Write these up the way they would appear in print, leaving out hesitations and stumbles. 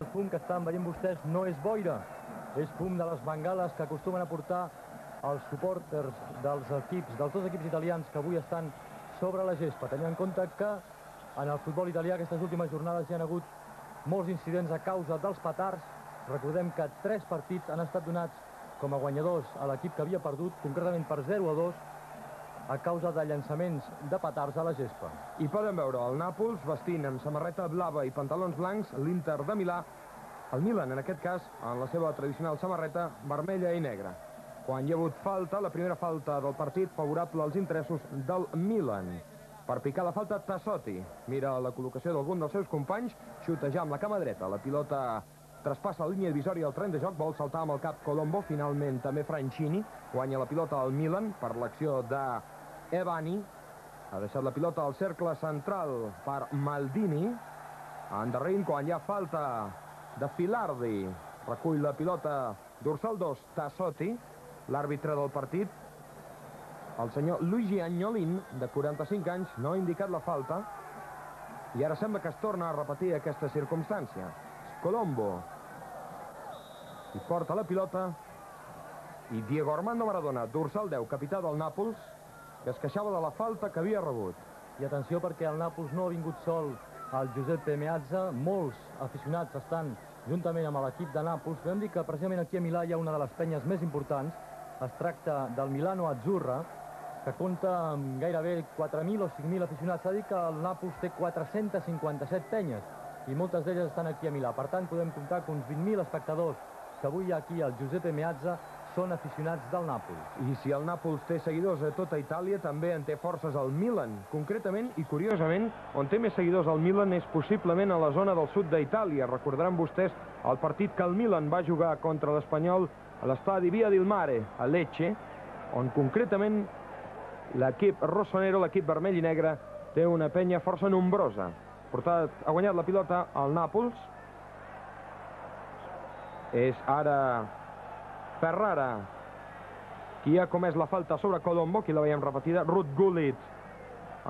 El fum que estan veient vostès no és boira, és fum de les bengales que acostumen a portar els supporters dels dos equips italians que avui estan sobre la gespa. Tenint en compte que en el futbol italià aquestes últimes jornades hi ha hagut molts incidents a causa dels petards. Recordem que 3 partits han estat donats com a guanyadors a l'equip que havia perdut, concretament per 0-2, a causa de llançaments de petards a la gespa. I poden veure el Nàpols vestint amb samarreta blava i pantalons blancs l'Inter de Milà, el Milan en aquest cas, en la seva tradicional samarreta vermella i negra. Quan hi ha hagut falta, la primera falta del partit favorable als interessos del Milan. Per picar la falta, Tassotti mira la col·locació d'algun dels seus companys, xuta ja amb la cama dreta, la pilota traspassa la línia divisòria al tren de joc, vol saltar amb el cap Colombo, finalment també Franchini, guanya la pilota al Milan per l'acció d'Evani, ha deixat la pilota al cercle central per Maldini, endarrerint quan hi ha falta de Filardi, recull la pilota dorsal 2, Tassotti, l'àrbitre del partit, el senyor Luigi Agnolin, de 45 anys, no ha indicat la falta, i ara sembla que es torna a repetir aquesta circumstància. Colombo i porta la pilota, i Diego Armando Maradona, dorsal 10, capità del Nàpols, que es queixava de la falta que havia rebut. I atenció perquè el Nàpols no ha vingut sol al Giuseppe Meazza, molts aficionats estan juntament amb l'equip de Nàpols. Podem dir que precisament aquí a Milà hi ha una de les penyes més importants, es tracta del Milano Azzurra, que compta amb gairebé 4.000 o 5.000 aficionats. S'ha dit que el Nàpols té 457 penyes, i moltes d'elles estan aquí a Milà. Per tant, podem comptar que uns 20.000 espectadors que avui hi ha aquí al Giuseppe Meazza són aficionats del Nàpols. I si el Nàpols té seguidors a tota Itàlia, també en té forces al Milan. Concretament, i curiosament, on té més seguidors al Milan és possiblement a la zona del sud d'Itàlia. Recordaran vostès el partit que el Milan va jugar contra l'Espanyol a l'estadi Via del Mare, a Lecce, on concretament l'equip rossonero, l'equip vermell i negre, té una penya força nombrosa. Ha guanyat la pilota al Nàpols. És ara Ferrara qui ha comès la falta sobre Colombo, aquí la veiem repetida. Ruud Gullit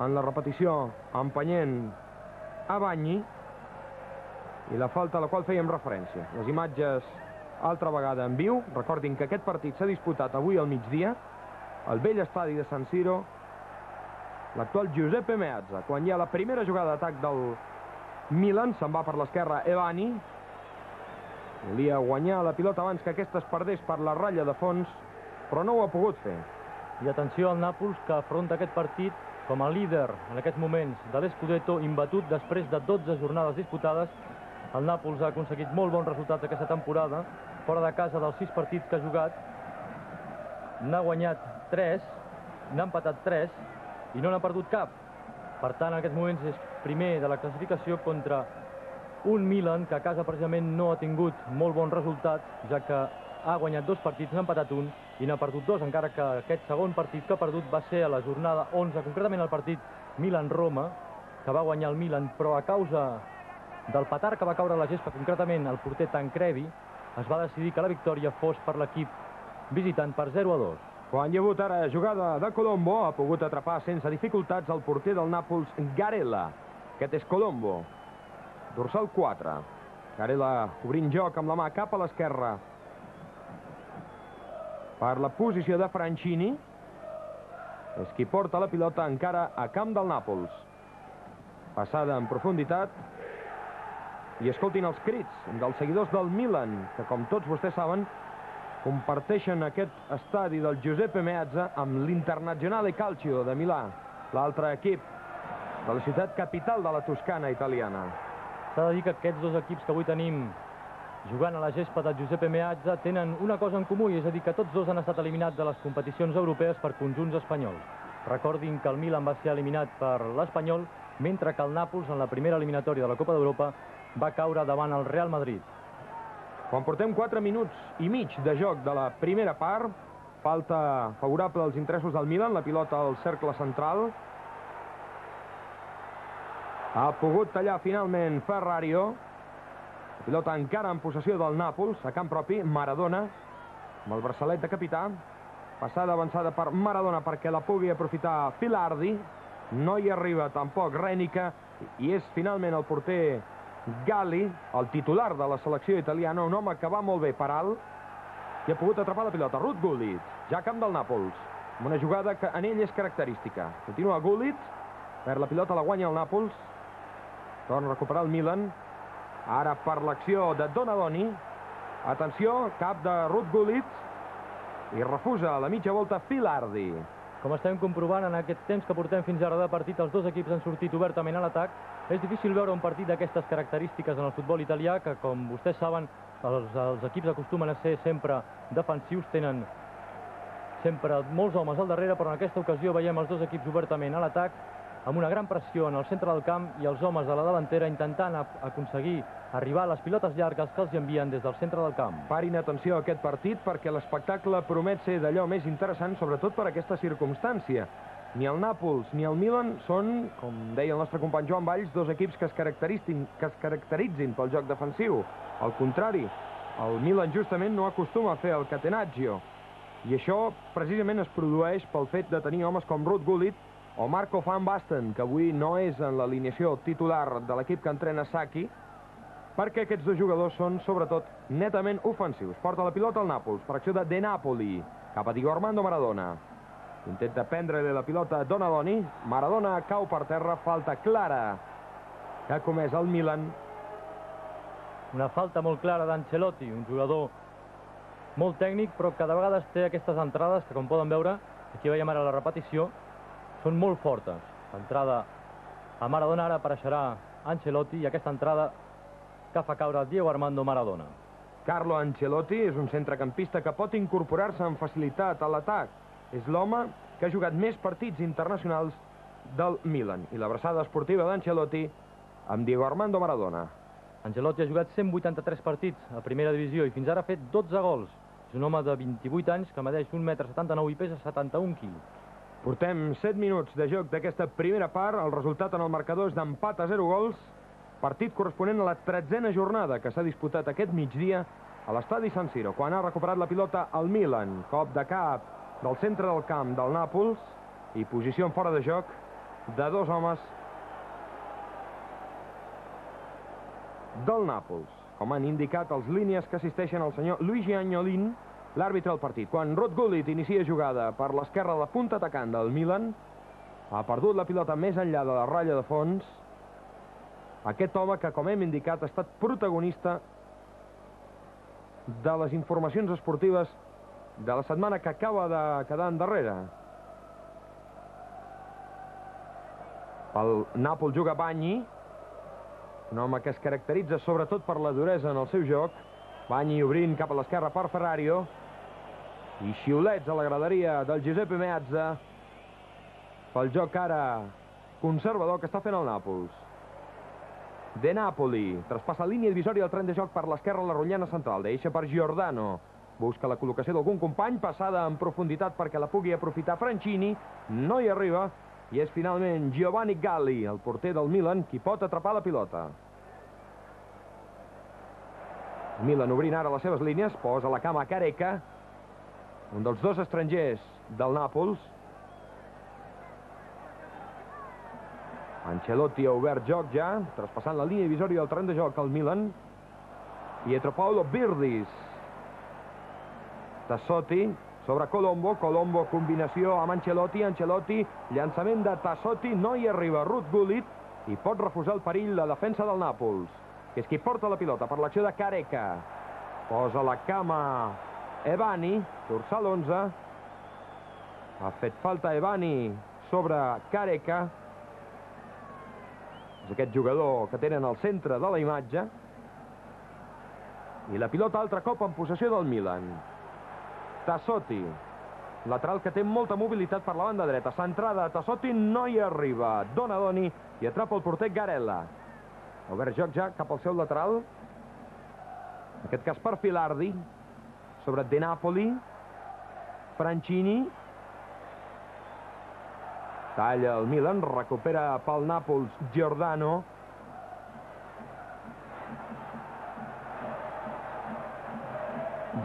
en la repetició empenyent a Bagni, i la falta a la qual fèiem referència. Les imatges altra vegada en viu. Recordin que aquest partit s'ha disputat avui al migdia al vell estadi de San Siro, l'actual Giuseppe Meazza. Quan hi ha la primera jugada d'atac del Milan, se'n va per l'esquerra Evani, volia guanyar la pilota abans que aquesta es perdés per la ratlla de fons, però no ho ha pogut fer. I atenció al Nàpols, que afronta aquest partit com a líder en aquests moments de l'Scudetto, imbatut després de 12 jornades disputades. El Nàpols ha aconseguit molt bons resultats aquesta temporada, fora de casa dels 6 partits que ha jugat. N'ha guanyat 3, n'ha empatat 3 i no n'ha perdut cap. Per tant, en aquests moments és primer de la classificació contra un Milan que a casa precisament no ha tingut molt bons resultats, ja que ha guanyat 2 partits, n'ha empatat 1 i n'ha perdut 2, encara que aquest segon partit que ha perdut va ser a la jornada 11, concretament el partit Milan-Roma, que va guanyar el Milan, però a causa del petard que va caure a la gespa, concretament el porter Tancredi, es va decidir que la victòria fos per l'equip visitant per 0-2. Quan hi ha hagut ara jugada de Colombo, ha pogut atrapar sense dificultats el porter del Nàpols, Garella. Aquest és Colombo, dorsal 4. Garella obrint joc amb la mà cap a l'esquerra per la posició de Franchini. És qui porta la pilota encara a camp del Nàpols. Passada en profunditat. I escoltin els crits dels seguidors del Milan, que com tots vostès saben, comparteixen aquest estadi del Giuseppe Meazza amb l'Internazionale Calcio de Milà, l'altre equip de la ciutat capital de la Toscana italiana. S'ha de dir que aquests dos equips que avui tenim jugant a la gespa del Giuseppe Meazza tenen una cosa en comú, i és a dir que tots dos han estat eliminats de les competicions europees per conjunts espanyols. Recordin que el Milan va ser eliminat per l'Espanyol, mentre que el Nàpols, en la primera eliminatòria de la Copa d'Europa, va caure davant el Real Madrid. Quan portem 4 minuts i mig de joc de la primera part, falta favorable als interessos del Milan, la pilota al cercle central. Ha pogut tallar finalment Ferrario. La pilota encara en possessió del Nàpols, a camp propi, Maradona, amb el braçalet de capità. Passada avançada per Maradona perquè la pugui aprofitar Filardi. No hi arriba tampoc Rènica, i és finalment el porter Galli, el titular de la selecció italiana, un home que va molt bé per alt i ha pogut atrapar la pilota. Ruud Gullit, ja camp del Nàpols, amb una jugada que en ell és característica. Continua Gullit, perd la pilota, la guanya el Nàpols, torna a recuperar el Milan, ara per l'acció de Donadoni, atenció, cap de Ruud Gullit, i refusa a la mitja volta Filardi. Com estem comprovant, en aquest temps que portem fins ara de partit, els dos equips han sortit obertament a l'atac. És difícil veure un partit d'aquestes característiques en el futbol italià, que, com vostès saben, els equips acostumen a ser sempre defensius, tenen sempre molts homes al darrere, però en aquesta ocasió veiem els dos equips obertament a l'atac, amb una gran pressió en el centre del camp i els homes de la davantera intentant aconseguir arribar a les pilotes llargues que els envien des del centre del camp. Parin atenció a aquest partit perquè l'espectacle promet ser d'allò més interessant, sobretot per aquesta circumstància. Ni el Nàpols ni el Milan són, com deia el nostre company Joan Valls, dos equips que es caracteritzin pel joc defensiu. Al contrari, el Milan justament no acostuma a fer el catenaccio. I això precisament es produeix pel fet de tenir homes com Ruud Gullit o Marco van Basten, que avui no és en l'alineació titular de l'equip que entrena Sacchi, perquè aquests dos jugadors són, sobretot, netament ofensius. Porta la pilota al Nàpols, per acció de Napoli, cap a Diego Armando Maradona. Intenta prendre-li la pilota a Donadoni. Maradona cau per terra, falta clara que ha comès el Milan. Una falta molt clara d'Ancelotti, un jugador molt tècnic, però que de vegades té aquestes entrades que, com poden veure, aquí veiem ara la repetició, són molt fortes. L'entrada a Maradona, ara apareixerà Ancelotti, i aquesta entrada que fa caure Diego Armando Maradona. Carlo Ancelotti és un centrecampista que pot incorporar-se amb facilitat a l'atac. És l'home que ha jugat més partits internacionals del Milan. I l'abraçada esportiva d'Ancelotti amb Diego Armando Maradona. Ancelotti ha jugat 183 partits a primera divisió i fins ara ha fet 12 gols. És un home de 28 anys que medeix 1,79 m i pesa 71 quilos. Portem 7 minuts de joc d'aquesta primera part. El resultat en el marcador és d'empat a 0 gols. Partit corresponent a la 13a jornada que s'ha disputat aquest migdia a l'estadi San Siro, quan ha recuperat la pilota el Milan. Cop de cap del centre del camp del Nàpols i posició en fora de joc de dos homes del Nàpols. Com han indicat els línies que assisteixen el senyor Luigi Agnolin, l'àrbitre del partit. Quan Ruud Gullit inicia jugada per l'esquerra de la punta atacant del Milan, ha perdut la pilota més enllà de la ratlla de fons. Aquest home que, com hem indicat, ha estat protagonista de les informacions esportives de la setmana que acaba de quedar endarrere. El Nàpols juga Bagni, un home que es caracteritza sobretot per la duresa en el seu joc. Bagni obrint cap a l'esquerra per Ferrario. I xiulets a la graderia del Giuseppe Meazza pel joc ara conservador que està fent el Nàpols. De Napoli traspassa línia divisòria al tren de joc per l'esquerra a la rotllana central. Deixa per Giordano. Busca la col·locació d'algun company, passada en profunditat perquè la pugui aprofitar Franchini. No hi arriba. I és finalment Giovanni Galli, el porter del Milan, qui pot atrapar la pilota. Milan obrint ara les seves línies, posa la cama a Careca, un dels dos estrangers del Nàpols. Ancelotti ha obert joc ja, traspassant la línia divisòria del terreny de joc al Milan. Pietro Paolo Birdis. Tassotti sobre Colombo. Colombo combinació amb Ancelotti. Ancelotti, llançament de Tassotti, no hi arriba Ruud Gullit i pot refusar el perill la defensa del Nàpols, que és qui porta la pilota per l'acció de Careca. Posa la cama Evani, dorsal 11. Ha fet falta Evani sobre Careca. És aquest jugador que tenen al centre de la imatge. I la pilota altre cop en possessió del Milan. Tassotti, lateral que té molta mobilitat per la banda dreta. Centrada, Tassotti no hi arriba. Donadoni i atrapa el porter Garella. Ha obert joc ja cap al seu lateral. En aquest cas per Filardi. Sobre De Napoli. Franchini. Talla el Milan, recupera pel Nàpols Giordano.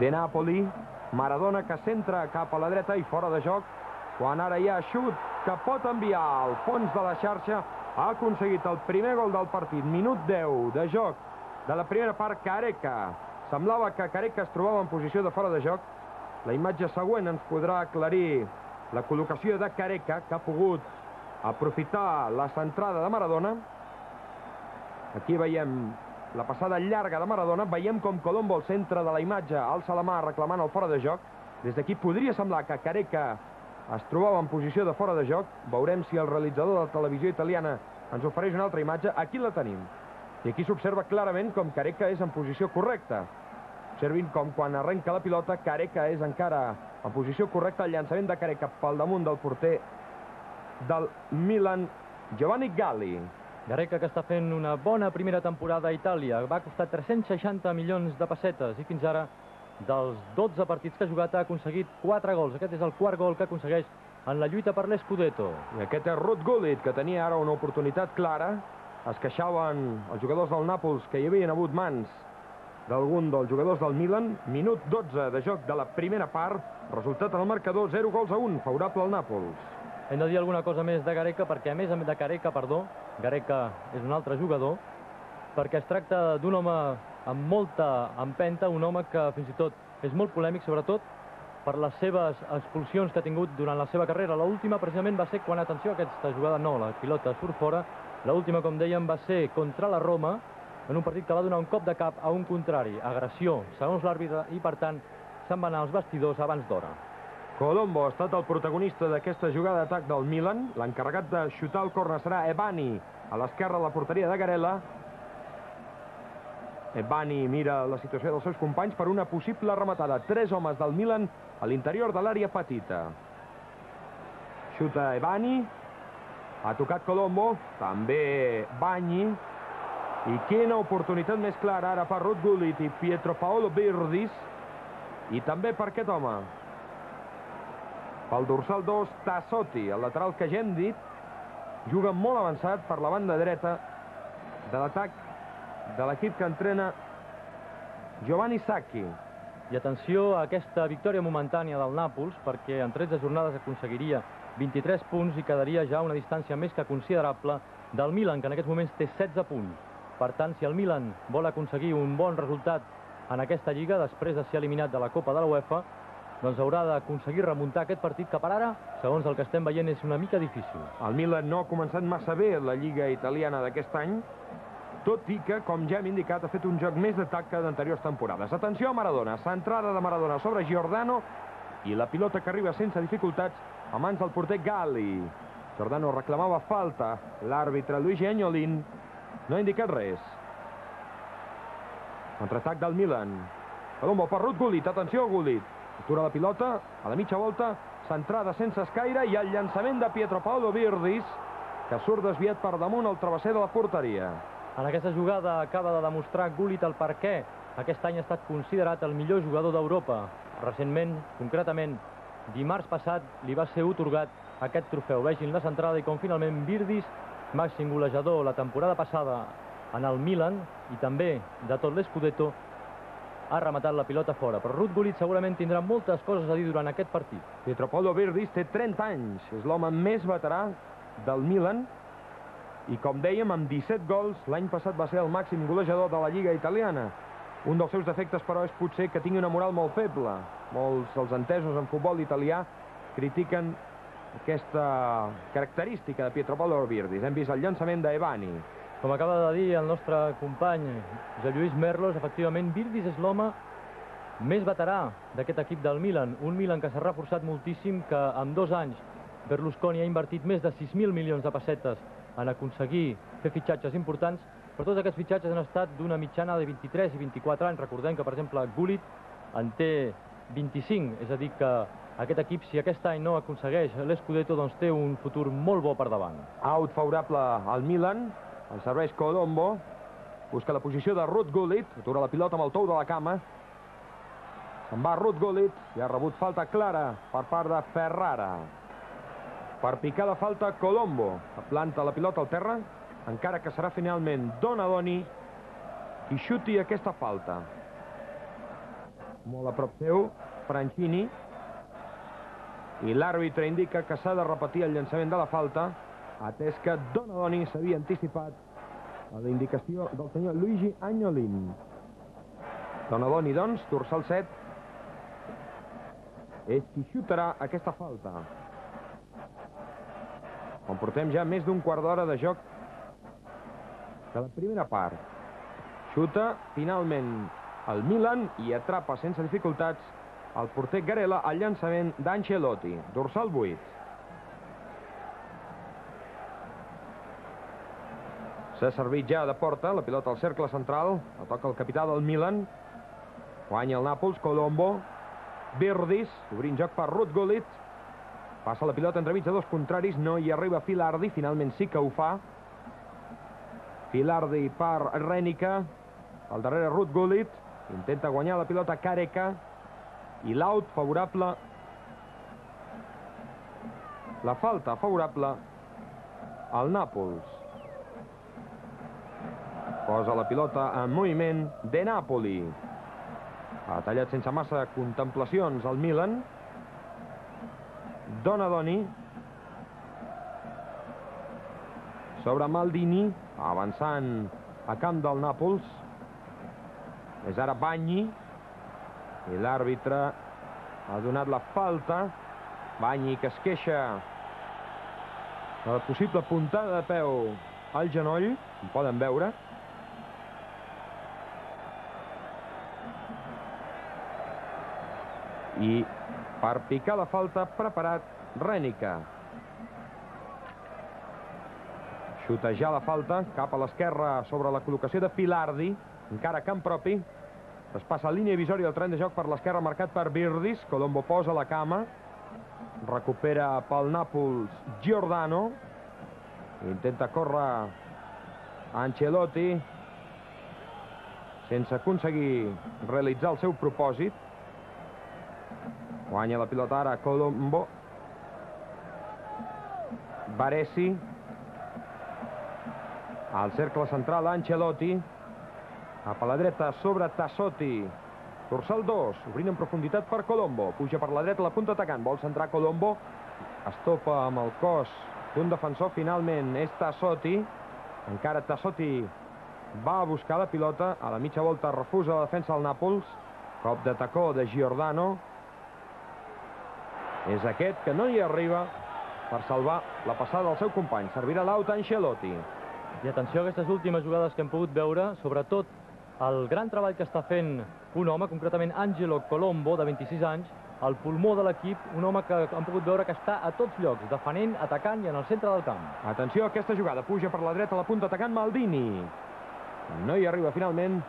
De Napoli. Maradona que centra cap a la dreta i fora de joc, quan ara hi ha xut que pot enviar al fons de la xarxa ha aconseguit el primer gol del partit. Minut 10 de joc de la primera part, Careca. Semblava que Careca es trobava en posició de fora de joc. La imatge següent ens podrà aclarir la col·locació de Careca, que ha pogut aprofitar la centrada de Maradona. Aquí veiem la passada llarga de Maradona. Veiem com Colombo, al centre de la imatge, alça la mà reclamant el fora de joc. Des d'aquí podria semblar que Careca es trobava en posició de fora de joc. Veurem si el realitzador de la televisió italiana ens ofereix una altra imatge. Aquí la tenim. I aquí s'observa clarament com Careca és en posició correcta. Observin com quan arrenca la pilota, Careca és encara en posició correcta. El llançament de Careca pel damunt del porter del Milan, Giovanni Galli. Careca, que està fent una bona primera temporada a Itàlia. Va costar 360 milions de pessetes i fins ara, dels 12 partits que ha jugat, ha aconseguit 4 gols. Aquest és el quart gol que aconsegueix en la lluita per l'Scudetto. I aquest és Ruud Gullit, que tenia ara una oportunitat clara. Es queixaven els jugadors del Nàpols que hi havien hagut mans d'algun dels jugadors del Milan. Minut 12 de joc de la primera part. Resultat en el marcador, 0-1, favorable al Nàpols. Hem de dir alguna cosa més de Careca, perquè a més de Careca, Careca és un altre jugador, perquè es tracta d'un home amb molta empenta, un home que fins i tot és molt polèmic, sobretot per les seves expulsions que ha tingut durant la seva carrera. L'última precisament va ser quan, atenció, aquesta jugada no, la pilota surt fora. L'última, com dèiem, va ser contra la Roma, en un partit que va donar un cop de cap a un contrari, agressió, segons l'àrbitre, i per tant se'n va anar als vestidors abans d'hora. Colombo ha estat el protagonista d'aquesta jugada d'atac del Milan. L'encarregat de xutar el córner serà Ebani, a l'esquerra de la porteria de Garella. Ebani mira la situació dels seus companys per una possible rematada. 3 homes del Milan a l'interior de l'àrea petita. Xuta Ebani. Ha tocat Colombo. També Bagni. I quina oportunitat més clara ara per Ruud Gullit i Pietro Paolo Virdis. I també per aquest home. Pel dorsal 2, Tassotti, el lateral que ja hem dit. Juga molt avançat per la banda dreta de l'atac de l'equip que entrena Giovanni Sacchi. I atenció a aquesta victòria momentània del Nàpols, perquè en 13 jornades aconseguiria 23 punts i quedaria ja una distància més que considerable del Milan, que en aquests moments té 16 punts. Per tant, si el Milan vol aconseguir un bon resultat en aquesta lliga, després de ser eliminat de la Copa de la UEFA, doncs haurà d'aconseguir remuntar aquest partit que per ara, segons el que estem veient, és una mica difícil. El Milan no ha començat massa bé la lliga italiana d'aquest any, tot i que, com ja hem indicat, ha fet un joc més d'atac que d'anteriors temporades. Atenció a Maradona, centrada de Maradona sobre Giordano, i la pilota que arriba sense dificultats a mans del porter Galli. Giordano reclamava falta, l'àrbitre Luigi Agnolin no ha indicat res. Contraatac del Milan. Colombo per Ruud Gullit, atenció a Gullit. Atura la pilota, a la mitja volta, centrada sense escaire, i el llançament de Pietro Paolo Virdis, que surt desviat per damunt el travesser de la porteria. En aquesta jugada acaba de demostrar Gullit el per què aquest any ha estat considerat el millor jugador d'Europa. Recentment, concretament, dimarts passat, li va ser atorgat aquest trofeu. Vegin la centrada i com finalment Virdis, màxim golejador la temporada passada en el Milan i també de tot l'Scudetto, ha rematat la pilota fora. Però Ruud Gullit segurament tindrà moltes coses a dir durant aquest partit. Pietro Paolo Virdis té 30 anys, és l'home més veterà del Milan, i com dèiem, amb 17 gols, l'any passat va ser el màxim golejador de la Lliga italiana. Un dels seus defectes, però, és potser que tingui una moral molt feble. Molts dels entesos en futbol italià critiquen aquesta característica de Pietro Paolo Virdis. Hem vist el llançament d'Ebani. Com acaba de dir el nostre company Josep Lluís Merlos, efectivament, Virdis és l'home més veterà d'aquest equip del Milan. Un Milan que s'ha reforçat moltíssim, que en 2 anys Berlusconi ha invertit més de 6.000 milions de pessetes en aconseguir fer fitxatges importants, però tots aquests fitxatges han estat d'una mitjana de 23 i 24 anys. Recordem que, per exemple, Gullit en té 25, és a dir que aquest equip, si aquest any no aconsegueix l'Scudetto, doncs té un futur molt bo per davant. Out favorable al Milan, el serveix Colombo, busca la posició de Ruud Gullit, atura la pilota amb el tou de la cama, se'n va Ruud Gullit i ha rebut falta clara per part de Ferrara. Per picar la falta, Colombo planta la pilota al terra, encara que serà finalment Donadoni qui xuti aquesta falta. Molt a prop seu, Franchini, i l'àrbitre indica que s'ha de repetir el llançament de la falta. atès que Donadoni s'havia anticipat a la indicació del senyor Luigi Agnolin. Donadoni, doncs, dorsal 7, és qui xutarà aquesta falta. On portem ja més d'un quart d'hora de joc de la primera part. Xuta finalment el Milan i atrapa sense dificultats el porter Garela al llançament d'Ancelotti, dorsal 8. S'ha servit ja de porta, la pilota al cercle central, la toca el capità del Milan, guanya el Nàpols, Colombo, Virdis, obrint joc per Ruud Gullit, passa la pilota entremig de dos contraris, no hi arriba Filardi, finalment sí que ho fa. Filardi per Renica, al darrere Ruud Gullit, intenta guanyar la pilota Careca, i l'out favorable, la falta favorable al Nàpols. Posa la pilota en moviment De Napoli. Ha tallat sense massa contemplacions el Milan. Donadoni sobre Maldini, avançant a camp del Nàpols. És ara Bagni i l'àrbitre ha donat la falta. Bagni que es queixa de la possible puntada de peu al genoll, ho poden veure. I per picar la falta preparat Renica. Xutejar la falta cap a l'esquerra sobre la col·locació de Filardi, encara a camp propi. Es passa a línia divisòria del tren de joc per l'esquerra marcat per Virdis. Colombo posa la cama, recupera pel Nàpols Giordano, intenta córrer Ancelotti sense aconseguir realitzar el seu propòsit. Guanya la pilota ara Colombo. Baresi. Al cercle central Ancelotti. Cap a la dreta sobre Tassotti. Dorsal 2, obrint en profunditat per Colombo. Puja per la dreta la punta atacant. Vol centrar Colombo. Es topa amb el cos d'un defensor. Finalment és Tassotti. Encara Tassotti va a buscar la pilota. A la mitja volta refusa la defensa del Nàpols. Cop de tacó de Giordano. És aquest que no hi arriba per salvar la passada del seu company. Servirà l'aut a Ancelotti. I atenció a aquestes últimes jugades que hem pogut veure, sobretot el gran treball que està fent un home, concretament Angelo Colombo, de 26 anys, el pulmó de l'equip, un home que hem pogut veure que està a tots llocs, defenent, atacant i en el centre del camp. Atenció a aquesta jugada, puja per la dreta la punta atacant Maldini. No hi arriba finalment.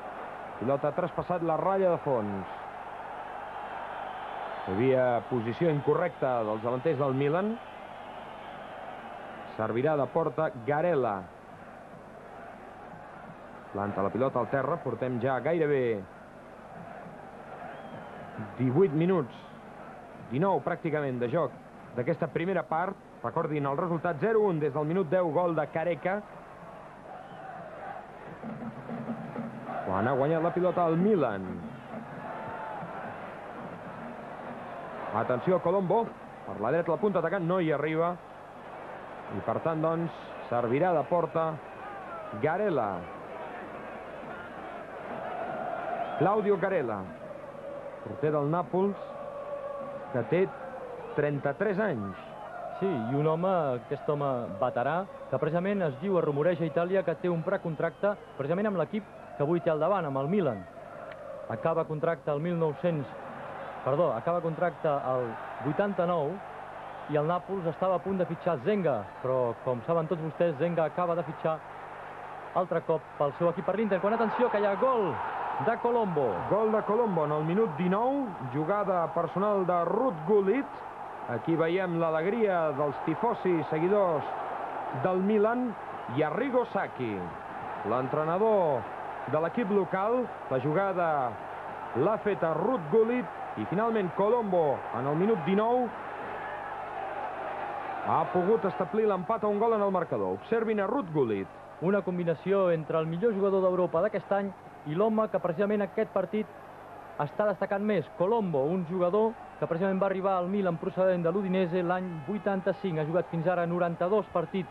Pilota ha traspassat la ratlla de fons. Hi havia posició incorrecta dels davanters del Milan. Servirà de porta Garela. Planta la pilota al terra. Portem ja gairebé 18 minuts, 19 pràcticament de joc d'aquesta primera part. Recordin el resultat 0-1 des del minut 10, gol de Careca. Quan ha guanyat la pilota al Milan. Atenció a Colombo, per la dreta la punta atacant, no hi arriba. I per tant, doncs, servirà de porta Garela. Claudio Garela, porter del Nàpols, que té 33 anys. Sí, i un home, aquest home veterà, que precisament es diu, es rumoreja a Itàlia, que té un precontracte precisament amb l'equip que avui té al davant, amb el Milan. Acaba contracte el 89 i el Nàpols estava a punt de fitxar Zenga, però com saben tots vostès, Zenga acaba de fitxar altre cop pel seu equip per l'Inter. Quan atenció que hi ha gol de Colombo. Gol de Colombo en el minut 19, jugada personal de Ruud Gullit. Aquí veiem l'alegria dels tifosi seguidors del Milan. I Arrigo Sacchi, l'entrenador de l'equip local. La jugada l'ha feta Ruud Gullit. I finalment Colombo, en el minut 19, ha pogut establir l'empat a un gol en el marcador. Observin a Ruud Gullit. Una combinació entre el millor jugador d'Europa d'aquest any i l'home que precisament aquest partit està destacant més. Colombo, un jugador que precisament va arribar al Milan procedent de l'Udinese l'any 85. Ha jugat fins ara 92 partits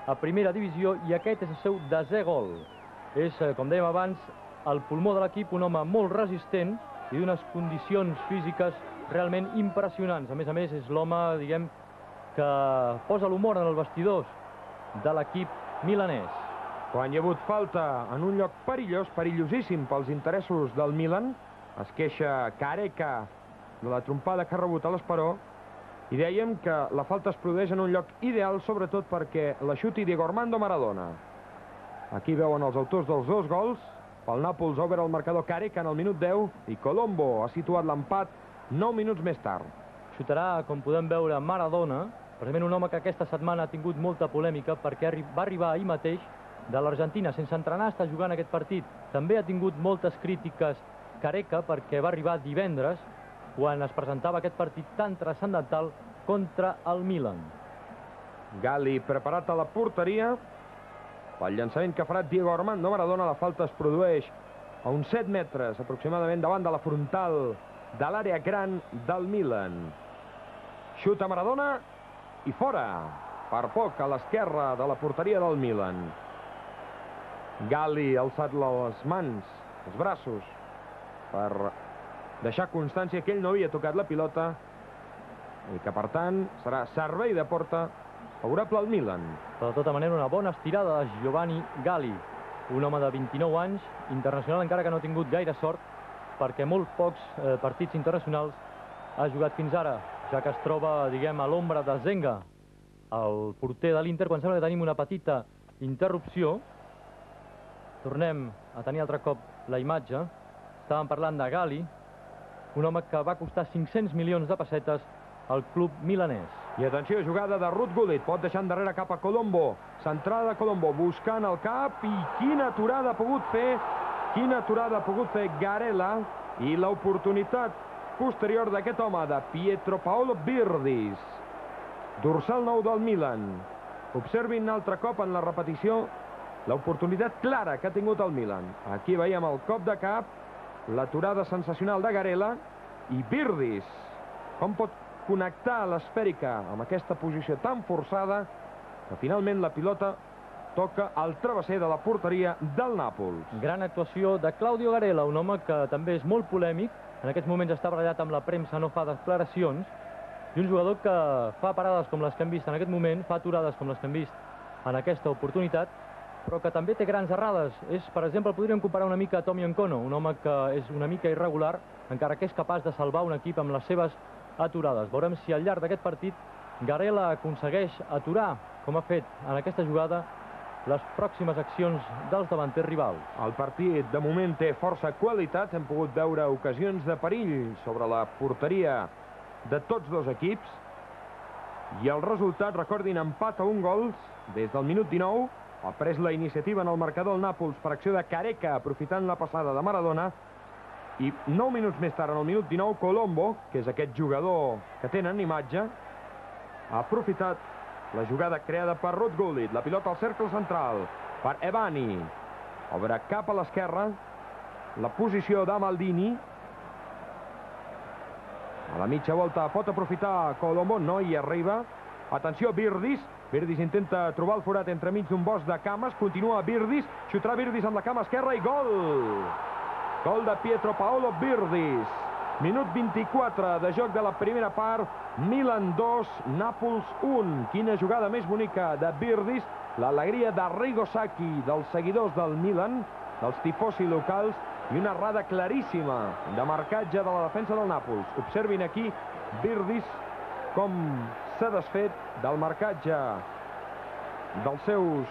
a primera divisió i aquest és el seu 10è gol. És, com dèiem abans, el pulmó de l'equip, un home molt resistent i d'unes condicions físiques realment impressionants. A més, és l'home, diguem, que posa l'humor en els vestidors de l'equip milanès. Quan hi ha hagut falta en un lloc perillós, perillosíssim pels interessos del Milan, es queixa Careca de la trompada que ha rebut a l'Esperó i dèiem que la falta es produeix en un lloc ideal, sobretot perquè la xuti Diego Armando Maradona. Aquí veuen els autors dels dos gols. Pel Nàpols obre el marcador Careca en el minut 10 i Colombo ha situat l'empat 9 minuts més tard. Xutarà, com podem veure, Maradona, precisament un home que aquesta setmana ha tingut molta polèmica perquè va arribar ahir mateix de l'Argentina sense entrenar, està jugant aquest partit. També ha tingut moltes crítiques Careca perquè va arribar divendres quan es presentava aquest partit tan transcendental contra el Milan. Gali preparat a la porteria. Pel llançament que farà Diego Armando Maradona, la falta es produeix a uns 7 metres aproximadament davant de la frontal de l'àrea gran del Milan. Xuta Maradona i fora, per poc a l'esquerra de la porteria del Milan. Gali ha alçat les mans, els braços, per deixar constància que ell no havia tocat la pilota i que, per tant, serà servei de porta favorable al Milan. Però, de tota manera, una bona estirada de Giovanni Gali, un home de 29 anys, internacional, encara que no ha tingut gaire sort, perquè molt pocs partits internacionals ha jugat fins ara, ja que es troba, diguem, a l'ombra de Zenga, el porter de l'Inter, quan sembla que tenim una petita interrupció. Tornem a tenir altre cop la imatge. Estàvem parlant de Gali, un home que va costar 500 milions de pessetes al club milanès. I atenció, jugada de Ruud Gullit, pot deixar endarrere cap a Colombo, centrada de Colombo, buscant el cap, i quina aturada ha pogut fer Garela, i l'oportunitat posterior d'aquest home, de Pietro Paolo Birdis, dorsal 9 del Milan. Observin altre cop en la repetició l'oportunitat clara que ha tingut el Milan. Aquí veiem el cop de cap, l'aturada sensacional de Garela, i Birdis, com pot connectar l'esfèrica amb aquesta posició tan forçada que finalment la pilota toca al travesser de la porteria del Nàpols. Gran actuació de Claudio Garela, un home que també és molt polèmic, en aquests moments està barallat amb la premsa, no fa declaracions, i un jugador que fa parades com les que hem vist en aquest moment, fa aturades com les que hem vist en aquesta oportunitat, però que també té grans errades. Per exemple, podríem comparar una mica a Tommy Nkono, un home que és una mica irregular, encara que és capaç de salvar un equip amb les seves aturades. Veurem si al llarg d'aquest partit Garela aconsegueix aturar, com ha fet en aquesta jugada, les pròximes accions dels davanters rivals. El partit, de moment, té força qualitat. Hem pogut veure ocasions de perill sobre la porteria de tots dos equips. I el resultat, recordin, empat a 1 gols des del minut 19. Ha pres la iniciativa en el marcador el Nàpols per acció de Careca, aprofitant la passada de Maradona. I 9 minuts més tard, en el minut 19, Colombo, que és aquest jugador que tenen imatge, ha aprofitat la jugada creada per Ruud Gullit. La pilota al cercle central per Ebani. Obre cap a l'esquerra. La posició de Maldini. A la mitja volta pot aprofitar Colombo, no hi arriba. Atenció, Birdis. Birdis intenta trobar el forat entremig d'un bosc de cames. Continua Birdis. Xutarà Birdis amb la cama esquerra i gol! Gol de Pietro Paolo Birdis. Minut 24 de joc de la primera part. Milan 2, Nàpols 1. Quina jugada més bonica de Birdis. L'alegria de Arrigo Sacchi, dels seguidors del Milan, dels tifosi locals, i una errada claríssima de marcatge de la defensa del Nàpols. Observin aquí Birdis com s'ha desfet del marcatge dels seus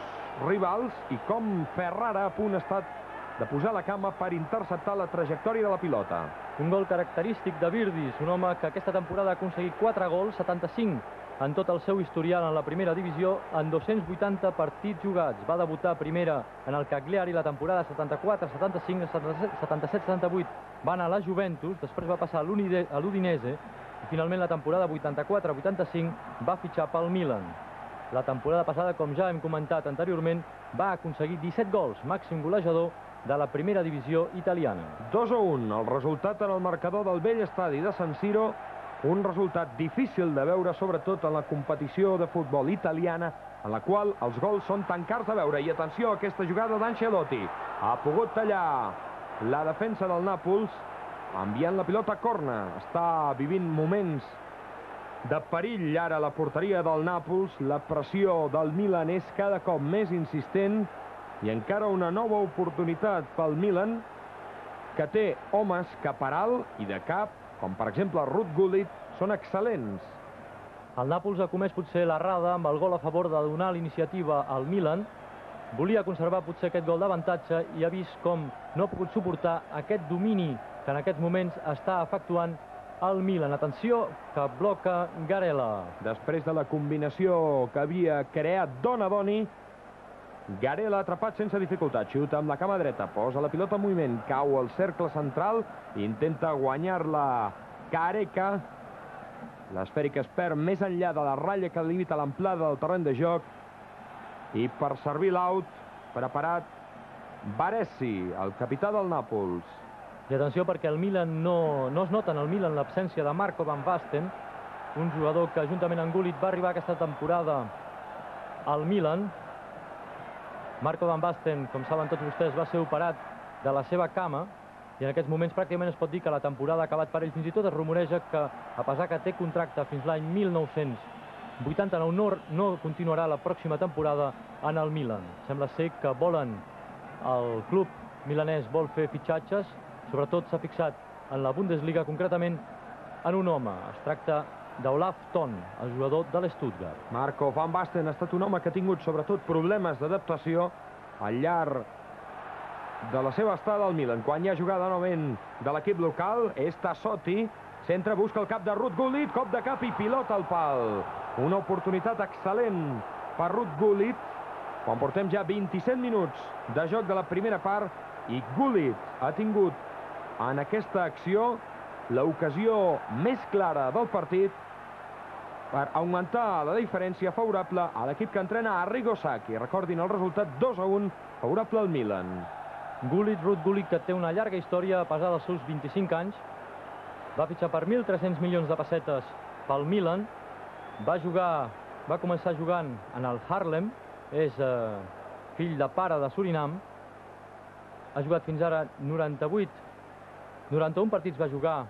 rivals i com Ferrara a punt ha estat de posar la cama per interceptar la trajectòria de la pilota. Un gol característic de Birdis, un home que aquesta temporada ha aconseguit 4 gols, 75 en tot el seu historial en la primera divisió, en 280 partits jugats. Va debutar a primera en el Cagliari la temporada 74, 75, 77, 78. Va anar a la Juventus, després va passar a l'Udinese i finalment la temporada 84-85 va fitxar pel Milan. La temporada passada, com ja hem comentat anteriorment, va aconseguir 17 gols, màxim golejador de la primera divisió italiana. 2-1, el resultat en el marcador del vell estadi de San Siro, un resultat difícil de veure, sobretot en la competició de futbol italiana en la qual els gols són tan cars de veure. I atenció a aquesta jugada d'Ancelotti. Ha pogut tallar la defensa del Nàpols, enviant la pilota a corna. Està vivint moments de perill ara la porteria del Nàpols. La pressió del Milan és cada cop més insistent i encara una nova oportunitat pel Milan, que té homes que per alt i de cap, com per exemple Ruud Gullit, són excel·lents. El Nàpols ha comès potser l'errada amb el gol a favor de donar l'iniciativa al Milan. Volia conservar potser aquest gol d'avantatge i ha vist com no ha pogut suportar aquest domini que en aquests moments està efectuant el Milan. Atenció, que bloca Garela. Després de la combinació que havia creat Donadoni, Garela atrapat sense dificultat, xuta amb la cama dreta, posa la pilota en moviment, cau al cercle central, intenta guanyar-la Careca. L'esfèrica es perd més enllà de la ratlla que limita l'amplada del terreny de joc. I per servir l'out, preparat Baresi, el capità del Nàpols. I atenció perquè el Milan no es nota en el Milan l'absència de Marco Van Basten, un jugador que juntament amb Gullit va arribar aquesta temporada al Milan. Marco Van Basten, com saben tots vostès, va ser operat de la seva cama i en aquests moments pràcticament es pot dir que la temporada ha acabat per ell. Fins i tot es rumoreja que, a pesar que té contracte fins l'any 1989, no continuarà la pròxima temporada en el Milan. Sembla ser que volen, el club milanès vol fer fitxatges, sobretot s'ha fixat en la Bundesliga, concretament en un home. Es tracta d'Olaf Thon, el jugador de l'Stuttgart. Marco Van Basten ha estat un home que ha tingut sobretot problemes d'adaptació al llarg de la seva estada al Milan. Quan hi ha jugada novament de l'equip local, és Tassotti, centra, busca el cap de Ruud Gullit, cop de cap i pilota al pal. Una oportunitat excel·lent per Ruud Gullit, quan portem ja 27 minuts de joc de la primera part, i Gullit ha tingut en aquesta acció l'ocasió més clara del partit per augmentar la diferència favorable a l'equip que entrena Arrigo Sacchi. Recordin el resultat 2-1 favorable al Milan. Ruud Gullit, que té una llarga història a pesar dels seus 25 anys, va fitxar per 1.300 milions de pessetes pel Milan, va començar jugant en el Haarlem, és fill de pare de Surinam, ha jugat fins ara 91 partits va jugar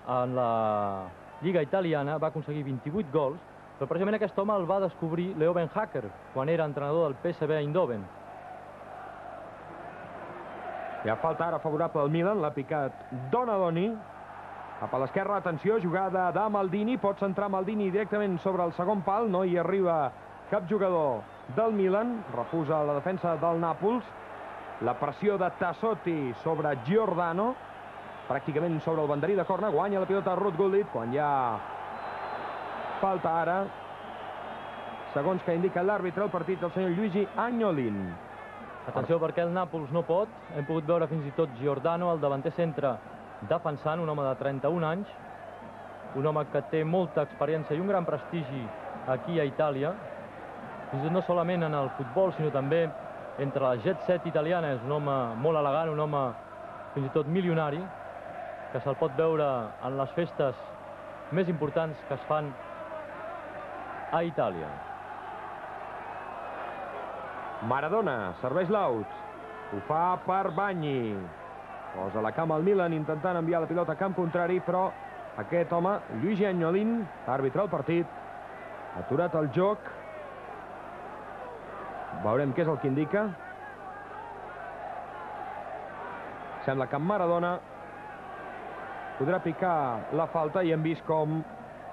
en la Lliga italiana, va aconseguir 28 gols, però precisament aquest home el va descobrir Leo Ben Hacker quan era entrenador del PSV Eindhoven. Hi ha falta ara favorable al Milan, l'ha picat Donadoni. Cap a l'esquerra, atenció, jugada de Maldini, pot centrar Maldini directament sobre el segon pal, no hi arriba cap jugador del Milan, refusa la defensa del Nàpols. La pressió de Tassotti sobre Giordano, pràcticament sobre el banderí de corna, guanya la pilota Ruud Gullit, quan hi ha falta ara, segons que indica l'àrbitre del partit, el senyor Luigi Agnolin. Atenció perquè el Nàpols no pot, hem pogut veure fins i tot Giordano, el davanter centre, defensant, un home de 31 anys, un home que té molta experiència i un gran prestigi aquí a Itàlia, fins i tot no solament en el futbol, sinó també entre la jet set italiana. És un home molt elegant, un home fins i tot milionari, que se'l pot veure en les festes més importants que es fan a Itàlia. Maradona serveix l'out, ho fa per Bagni, posa la cama al Milan intentant enviar la pilota a camp contrari, però aquest home, Luigi Agnolin, àrbitre del partit, ha aturat el joc. Veurem què és el que indica. Sembla que Maradona podrà picar la falta i hem vist com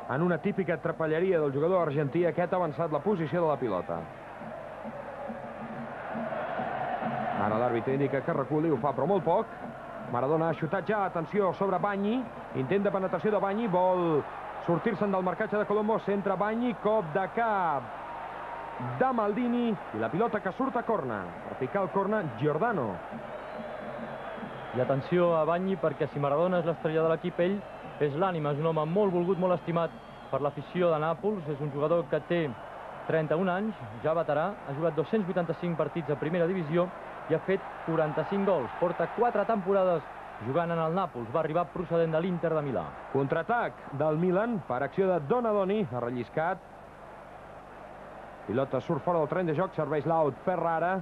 en una típica trapelleria del jugador argentí aquest ha avançat la posició de la pilota. Ara l'àrbitre indica que reculi, ho fa però molt poc. Maradona ha xutat ja, atenció, sobre Bagni, intent de penetració de Bagni, vol sortir-se'n del marcatge de Colombo, centra Bagni, cop de cap de Maldini i la pilota que surt a corna. Per picar el corna, Giordano. I atenció a Bagni, perquè si Maradona és l'estrella de l'equip, ell és l'ànima, és un home molt volgut, molt estimat per l'afició de Nàpols, és un jugador que té 31 anys, ja veterà, ha jugat 285 partits a primera divisió i ha fet 45 gols. Porta 4 temporades jugant en el Nàpols, va arribar procedent de l'Inter de Milà. Contraatac del Milan per acció de Donadoni, ha relliscat. Pilota surt fora del terreny de joc, serveix l'out Ferrara.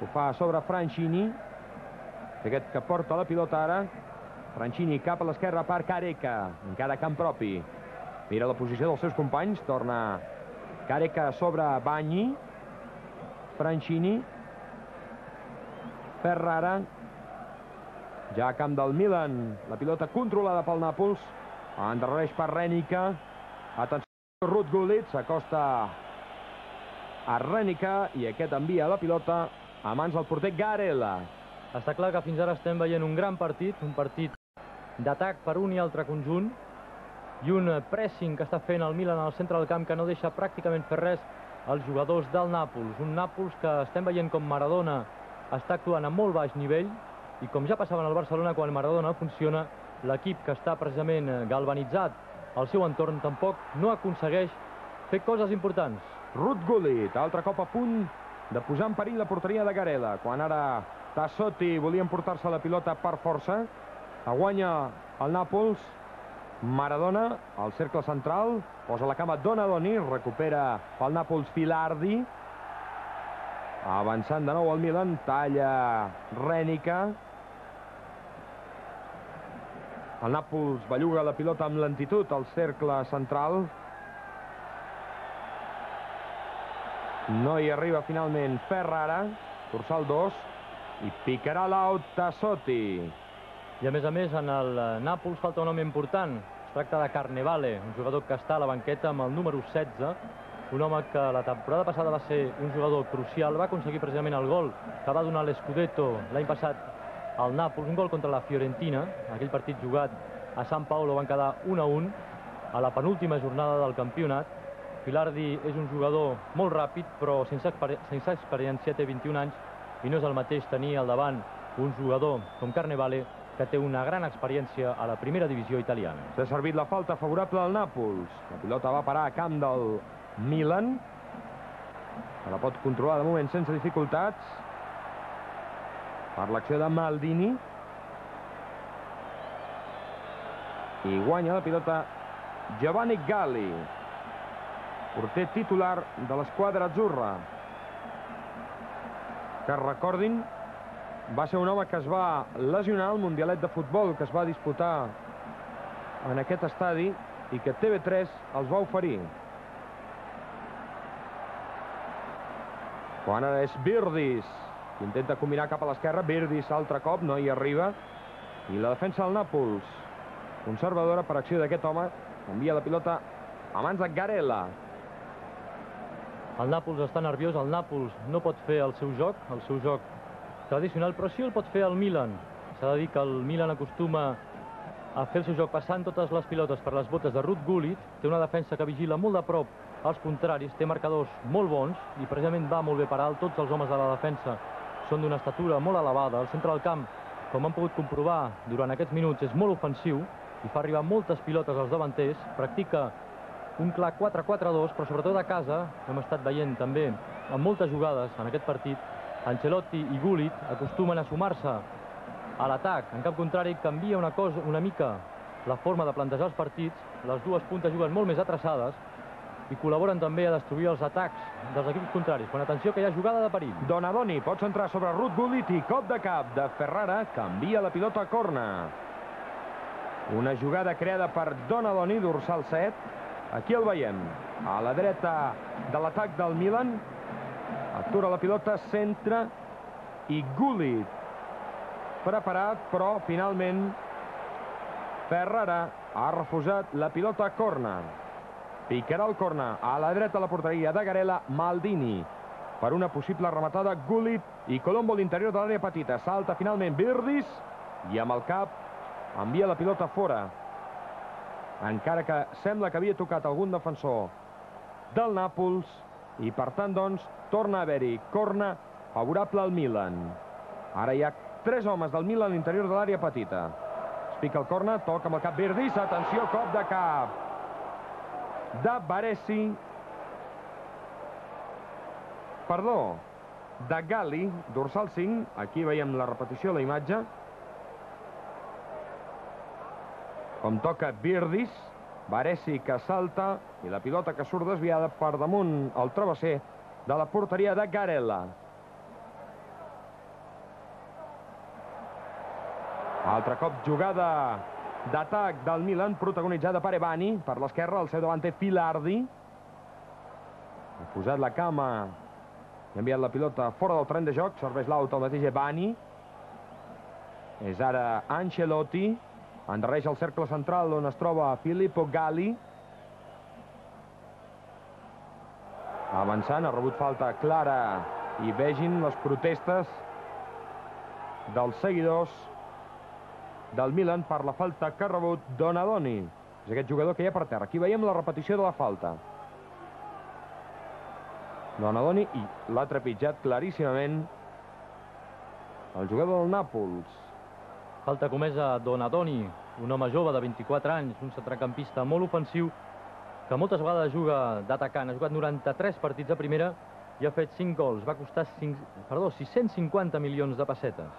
Ho fa sobre Franchini. Aquest que porta la pilota ara. Franchini cap a l'esquerra per Careca. Encara camp propi. Mira la posició dels seus companys. Torna Careca sobre Bagni. Franchini. Ferrara. Ja a camp del Milan. La pilota controlada pel Nàpols. Endarrereix per Rènica. Atenció, Ruud Gullit s'acosta a Rènica i aquest envia la pilota a mans del porter Garela. Està clar que fins ara estem veient un gran partit, un partit d'atac per un i altre conjunt i un pressing que està fent el Milan al centre del camp que no deixa pràcticament fer res als jugadors del Nàpols. Un Nàpols que estem veient com Maradona està actuant a molt baix nivell i com ja passava en el Barcelona quan Maradona funciona, l'equip que està precisament galvanitzat al seu entorn tampoc no aconsegueix fer coses importants. Ruud Gullit, altre cop a punt de posar en perill la porteria de Garela, quan ara Tassotti volia emportar-se la pilota per força. La guanya el Nàpols. Maradona al cercle central, posa la cama Donadoni, recupera pel Nàpols Filardi. Avançant de nou el Milan, talla Rènica. El Nàpols belluga la pilota amb lentitud al cercle central. No hi arriba finalment Ferrara, dorsal 2, i picarà l'out Tassotti. I a més, en el Nàpols falta un home important. Es tracta de Carnevale, un jugador que està a la banqueta amb el número 16, un home que la temporada passada va ser un jugador crucial, va aconseguir precisament el gol que va donar l'Scudetto l'any passat al Nàpols, un gol contra la Fiorentina. Aquell partit jugat a San Paolo van quedar 1-1 a la penúltima jornada del campionat. Filardi és un jugador molt ràpid, però sense experiència, té 21 anys, i no és el mateix tenir al davant un jugador com Carnevale, que té una gran experiència a la primera divisió italiana. S'ha servit la falta favorable al Nàpols. La pilota va parar a camp del Milan. La pot controlar de moment sense dificultats. Per l'acció de Maldini. I guanya la pilota Giovanni Galli, porter titular de l'esquadra azzurra, que recordin va ser un home que es va lesionar al Mundialet de futbol que es va disputar en aquest estadi i que TV3 els va oferir. Quan ara és Virdis, que intenta combinar cap a l'esquerra. Virdis altre cop, no hi arriba, i la defensa del Nàpols conservadora per acció d'aquest home, envia la pilota a mans de Garela. El Nàpols està nerviós, el Nàpols no pot fer el seu joc tradicional, però sí el pot fer el Milan. S'ha de dir que el Milan acostuma a fer el seu joc passant totes les pilotes per les botes de Ruud Gullit, té una defensa que vigila molt de prop als contraris, té marcadors molt bons i precisament va molt bé per alt. Tots els homes de la defensa són d'una estatura molt elevada. El centre del camp, com han pogut comprovar durant aquests minuts, és molt ofensiu i fa arribar moltes pilotes als davanters, practica un clar 4-4-2, però sobretot a casa, hem estat veient també en moltes jugades en aquest partit, Ancelotti i Gullit acostumen a sumar-se a l'atac. En cap contrari, canvia una mica la forma de plantejar els partits. Les dues puntes juguen molt més atreçades i col·laboren també a destruir els atacs dels equips contraris. Quan atenció que hi ha jugada de perill. Donadoni pot centrar sobre Ruud Gullit i cop de cap de Ferrara, canvia la pilota a corna. Una jugada creada per Donadoni, dorsal 7. Aquí el veiem, a la dreta de l'atac del Milan. Atura la pilota, centra, i Gullit preparat, però finalment Ferrara ha refusat la pilota a corna. Picarà el corna a la dreta de la porteria de Garela. Maldini per una possible rematada. Gullit i Colombo a l'interior de l'àrea petita. Salta finalment Virdis i amb el cap envia la pilota fora, encara que sembla que havia tocat algun defensor del Nàpols, i per tant, doncs, torna a haver-hi corna favorable al Milan. Ara hi ha 3 homes del Milan a l'interior de l'àrea petita. Es pica el corna, toca amb el cap Virdis, atenció, cop de cap de Baresi, perdó, de Galli, dorsal 5, aquí veiem la repetició, la imatge, com toca Virdis. Baresi que salta i la pilota que surt desviada per damunt el travesser de la porteria de Garella. Altre cop jugada d'atac del Milan, protagonitzada per Ebani. Per l'esquerra, al seu davant té Filardi. Ha posat la cama i ha enviat la pilota fora del tren de joc. Serveix l'out al mateix Ebani. És ara Ancelotti. Endarreix el cercle central on es troba Filippo Galli. Avançant, ha rebut falta clara i vegin les protestes dels seguidors del Milan per la falta que ha rebut Donadoni. És aquest jugador que hi ha per terra. Aquí veiem la repetició de la falta. Donadoni i l'ha trepitjat claríssimament el jugador del Nàpols. Falta comesa Donadoni, un home jove de 24 anys, un centrecampista molt ofensiu, que moltes vegades juga d'atacant. Ha jugat 93 partits a primera i ha fet 5 gols. Va costar 650 milions de pessetes.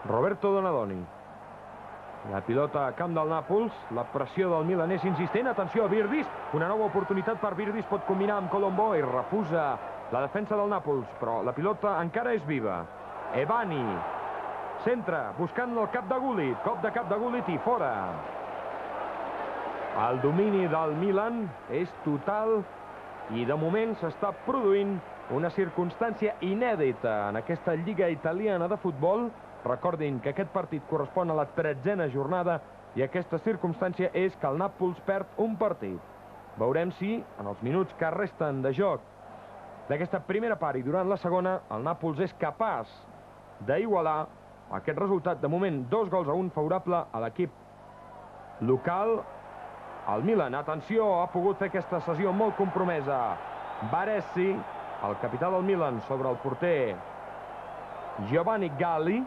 Roberto Donadoni. La pilota a camp del Nàpols. La pressió del Milan és insistent. Atenció a Virdis. Una nova oportunitat per Virdis. Pot combinar amb Colombo i refusa la defensa del Nàpols. Però la pilota encara és viva. Ebani. Centra, buscant el cap de Gullit. Cop de cap de Gullit i fora. El domini del Milan és total i de moment s'està produint una circumstància inèdita en aquesta Lliga Italiana de futbol. Recordin que aquest partit correspon a la 13a jornada i aquesta circumstància és que el Nàpols perd un partit. Veurem si, en els minuts que resten de joc d'aquesta primera part i durant la segona, el Nàpols és capaç d'igualar aquest resultat. De moment, 2-1 favorable a l'equip local. El Milan, atenció, ha pogut fer aquesta sessió molt compromesa. Baresi, el capità del Milan, sobre el porter Giovanni Galli.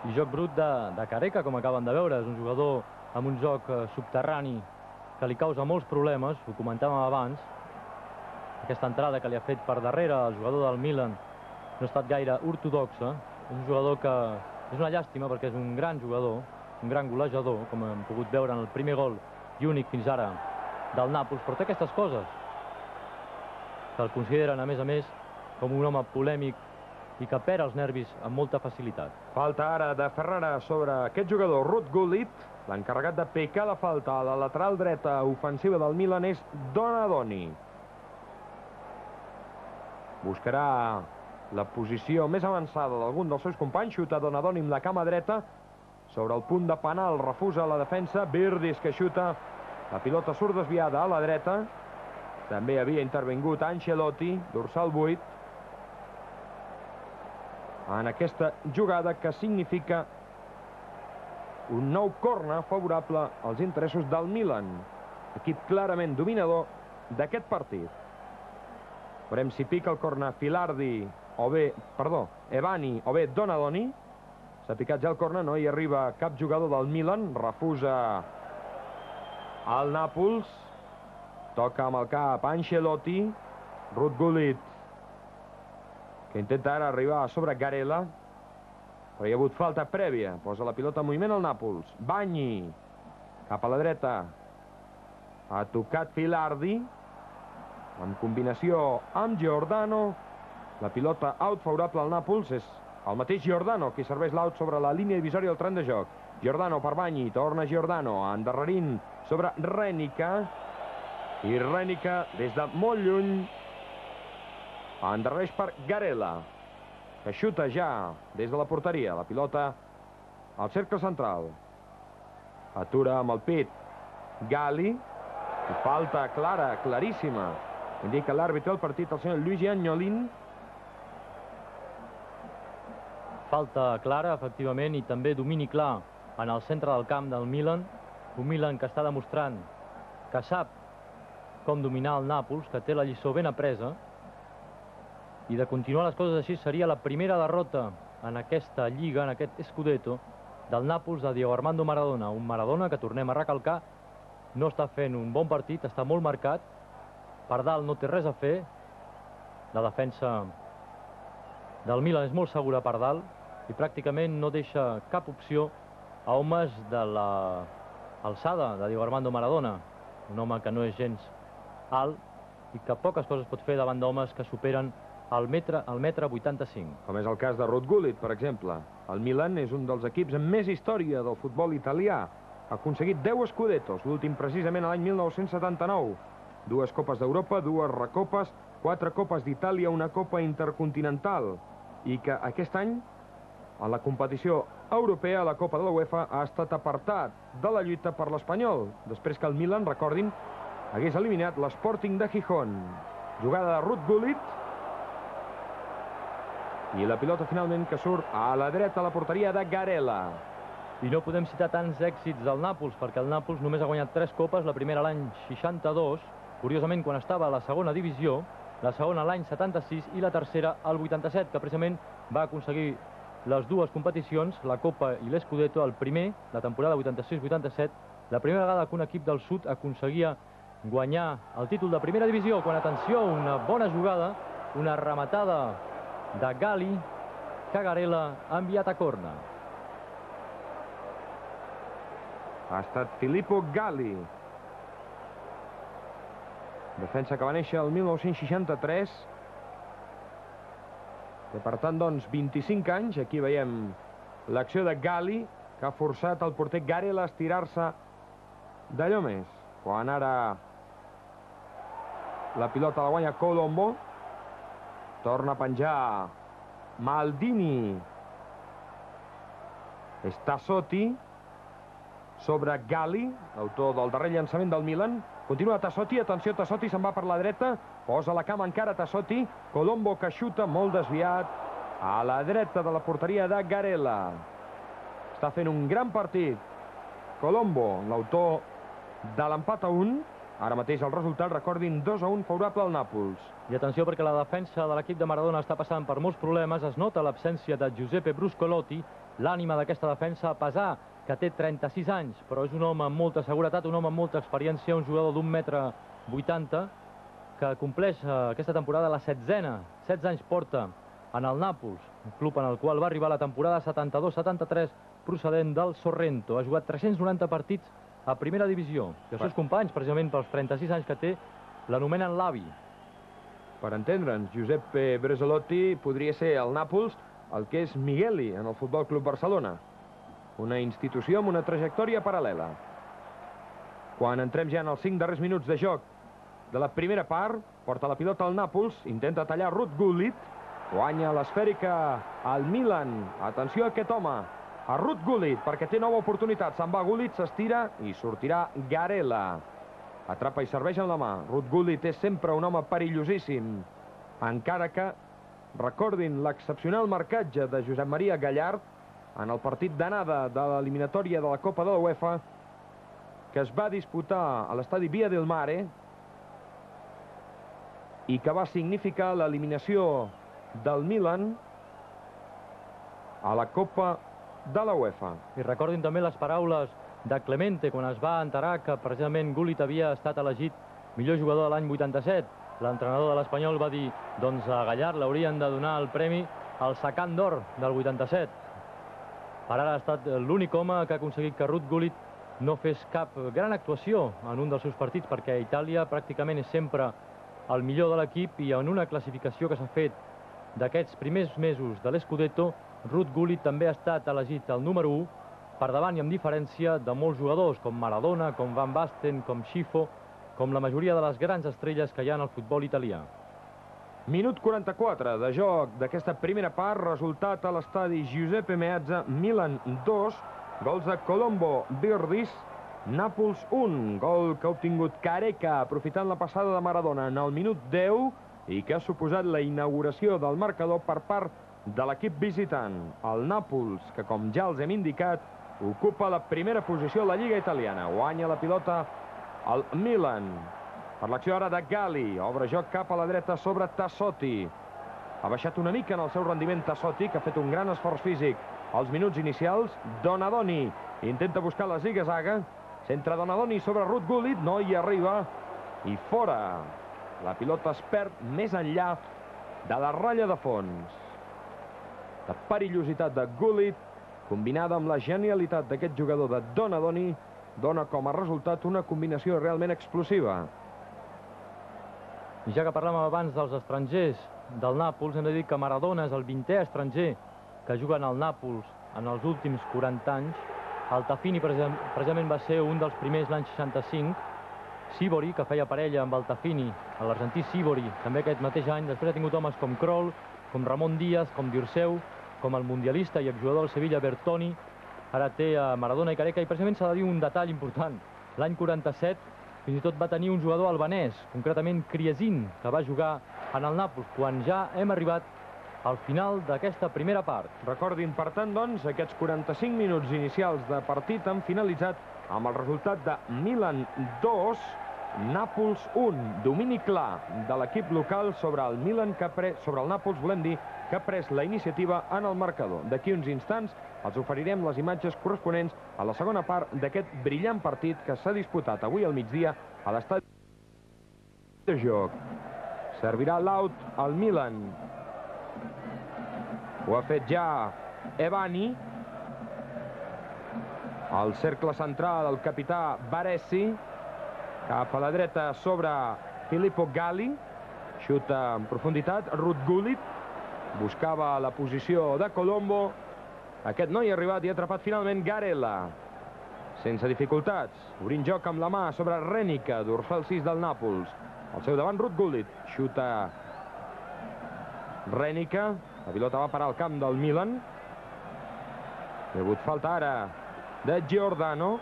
I joc brut de Careca, com acaben de veure. És un jugador amb un joc subterrani que li causa molts problemes, ho comentàvem abans. Aquesta entrada que li ha fet per darrere el jugador del Milan no ha estat gaire ortodoxa. És un jugador que és una llàstima perquè és un gran jugador, un gran golejador, com hem pogut veure en el primer gol i únic fins ara del Nàpols, però té aquestes coses que el consideren, a més, com un home polèmic i que perd els nervis amb molta facilitat. Falta ara de Ferrara sobre aquest jugador, Ruud Gullit. L'encarregat de picar la falta a la lateral dreta ofensiva del Milan és Donadoni. Buscarà la posició més avançada d'algun dels seus companys. Xuta Donadoni amb la cama dreta. Sobre el punt de penal refusa la defensa. Virdis que xuta. La pilota surt desviada a la dreta. També havia intervingut Ancelotti, dorsal 8. En aquesta jugada que significa un nou corner favorable als interessos del Milan. Equip clarament dominador d'aquest partit. Veurem si pica el corner Filardi o bé, Ebani o bé Donadoni. S'ha picat ja el corner, no hi arriba cap jugador del Milan. Refusa el Nàpols. Toca amb el cap Ancelotti. Ruud Gullit, que intenta ara arribar a sobre Garella, però hi ha hagut falta prèvia. Posa la pilota en moviment al Nàpols. Bagni, cap a la dreta. Ha tocat Filardi, en combinació amb Giordano. La pilota out favorable al Nàpols. És el mateix Giordano qui serveix l'out sobre la línia divisòria del tren de joc. Giordano per Bagni, torna Giordano, endarrerint sobre Renica. I Renica, des de molt lluny, endarrereix per Garella, que xuta ja des de la porteria. La pilota al cercle central. Atura amb el pit Galli. I falta clara, claríssima. Indica l'àrbitre del partit, el senyor Luigi Agnolin. Falta clara, efectivament, i també domini clar en el centre del camp del Milan. Un Milan que està demostrant que sap com dominar el Nàpols, que té la lliçó ben apresa. I de continuar les coses així seria la primera derrota en aquesta lliga, en aquest Scudetto, del Nàpols de Diego Armando Maradona. Un Maradona que, tornem a recalcar, no està fent un bon partit, està molt marcat. Per dalt no té res a fer. La defensa del Milan és molt segura per dalt i pràcticament no deixa cap opció a homes de l'alçada de Diego Armando Maradona, un home que no és gens alt i que poques coses pot fer davant d'homes que superen el metre 85. Com és el cas de Ruud Gullit, per exemple. El Milan és un dels equips amb més història del futbol italià. Ha aconseguit 10 Scudettos, l'últim precisament l'any 1979. 2 Copes d'Europa, 2 Recopes, 4 Copes d'Itàlia, una Copa Intercontinental. I que aquest any, a la competició europea, a la Copa de la UEFA, ha estat apartat de la lluita per l'Espanyol, després que el Milan, recordin, hagués eliminat l'Sporting de Gijón. Jugada de Ruud Gullit. I la pilota finalment que surt a la dreta a la porteria de Garela. I no podem citar tants èxits del Nàpols, perquè el Nàpols només ha guanyat 3 copes, la primera l'any 62, curiosament quan estava a la segona divisió, la segona l'any 76 i la tercera al 87, que precisament va aconseguir les dues competicions, la Copa i l'Scudetto, el primer, la temporada 86-87, la primera vegada que un equip del sud aconseguia guanyar el títol de primera divisió, quan, atenció, una bona jugada, una rematada de Gali, que Garela ha enviat a corna. Ha estat Filippo Gali. Defensa que va néixer el 1963. Té, per tant, doncs, 25 anys. Aquí veiem l'acció de Gali, que ha forçat el porter Garela a estirar-se d'allò més. Quan ara la pilota la guanya Colombo. Torna a penjar Maldini. És Tassotti sobre Gali, l'autor del darrer llançament del Milan. Continua Tassotti, atenció, Tassotti se'n va per la dreta, posa la cama encara Tassotti, Colombo que xuta, molt desviat, a la dreta de la porteria de Garela. Està fent un gran partit Colombo, l'autor de l'empat a 1. Ara mateix el resultat, recordin, 2-1 favorable al Nàpols. I atenció, perquè la defensa de l'equip de Maradona està passant per molts problemes. Es nota l'absència de Giuseppe Bruscolotti, l'ànima d'aquesta defensa, a pesar que té 36 anys, però és un home amb molta seguretat, un home amb molta experiència, un jugador d'1,80 m, que compleix aquesta temporada la 16a. 16 anys porta en el Nàpols, un club en el qual va arribar la temporada 72-73, procedent del Sorrento. Ha jugat 390 partits a primera divisió. I els seus companys, precisament pels 36 anys que té, l'anomenen l'avi. Per entendre'ns, Giuseppe Brezzolotti podria ser al Nàpols el que és Migueli en el Futbol Club Barcelona. Una institució amb una trajectòria paral·lela. Quan entrem ja en els 5 darrers minuts de joc de la primera part, porta la pilota al Nàpols, intenta tallar Ruud Gullit, guanya l'esfèrica al Milan. Atenció a aquest home, a Ruud Gullit, perquè té nova oportunitat. Se'n va Gullit, s'estira i sortirà Garela. Atrapa i serveix amb la mà. Ruud Gullit és sempre un home perillosíssim, encara que recordin l'excepcional marcatge de Josep Maria Gallard en el partit d'anada de l'eliminatòria de la Copa de la UEFA, que es va disputar a l'estadi Via del Mare i que va significar l'eliminació del Milan a la Copa de la UEFA. I recordin també les paraules de Clemente quan es va enterar que precisament Gullit havia estat elegit millor jugador de l'any 87. L'entrenador de l'Espanyol va dir, doncs a Gallard l'haurien de donar el premi al Sacant d'Or del 87. Per ara ha estat l'únic home que ha aconseguit que Ruud Gullit no fes cap gran actuació en un dels seus partits, perquè Itàlia pràcticament és sempre el millor de l'equip, i en una classificació que s'ha fet d'aquests primers mesos de l'Scudetto, Ruud Gullit també ha estat elegit el número 1, per davant i amb diferència de molts jugadors, com Maradona, com Van Basten, com Schifo, com la majoria de les grans estrelles que hi ha en el futbol italià. Minut 44 de joc d'aquesta primera part, resultat a l'estadi Giuseppe Meazza, Milan 2, gols de Colombo, Virdis, Nàpols 1, gol que ha obtingut Careca, aprofitant la passada de Maradona en el minut 10, i que ha suposat la inauguració del marcador per part de l'equip visitant. El Nàpols, que com ja els hem indicat, ocupa la primera posició a la Lliga Italiana. Guanya la pilota el Milan. Per l'acció ara de Gali, obre joc cap a la dreta sobre Tassotti. Ha baixat una mica en el seu rendiment Tassotti, que ha fet un gran esforç físic als minuts inicials. Donadoni intenta buscar la ziga-zaga. Centra Donadoni sobre Ruud Gullit, no hi arriba. I fora. La pilota es perd més enllà de la ratlla de fons. De perillositat de Gullit combinada amb la genialitat d'aquest jugador de Donadoni, dona com a resultat una combinació realment explosiva. I ja que parlàvem abans dels estrangers del Nàpols, hem de dir que Maradona és el 20è estranger que juga en el Nàpols en els últims 40 anys. Altafini precisament va ser un dels primers l'any 65. Sívori, que feia parella amb Altafini, l'argentí Sívori, també aquest mateix any. Després ha tingut homes com Kroll, com Ramon Díaz, com Dirceu, com el mundialista i exjugador del Sevilla Bertoni. Ara té a Maradona i Careca, i precisament s'ha de dir un detall important. L'any 47 fins i tot va tenir un jugador albanès, concretament Kriesin, que va jugar en el Nàpols, quan ja hem arribat al final d'aquesta primera part. Recordin, per tant, doncs, aquests 45 minuts inicials de partit han finalitzat amb el resultat de Milan 2, Nàpols 1. Domini clar de l'equip local sobre el Milan, sobre el Nàpols, volem dir, que ha pres la iniciativa en el marcador. D'aquí uns instants els oferirem les imatges corresponents a la segona part d'aquest brillant partit que s'ha disputat avui al migdia a l'estadi de joc. Servirà l'out al Milan. Ho ha fet ja Evani. Al cercle central el capità Baresi. Cap a la dreta sobre Filippo Galli. Xuta en profunditat. Ruud Gullit buscava la posició de Colombo. Aquest no hi ha arribat i ha atrapat finalment Garella. Sense dificultats. Obrint joc amb la mà sobre Renica, dorsal 6 del Nàpols. Al seu davant Ruud Gullit. Xuta Renica. La pilota va parar al camp del Milan. Hi ha hagut falta ara de Giordano.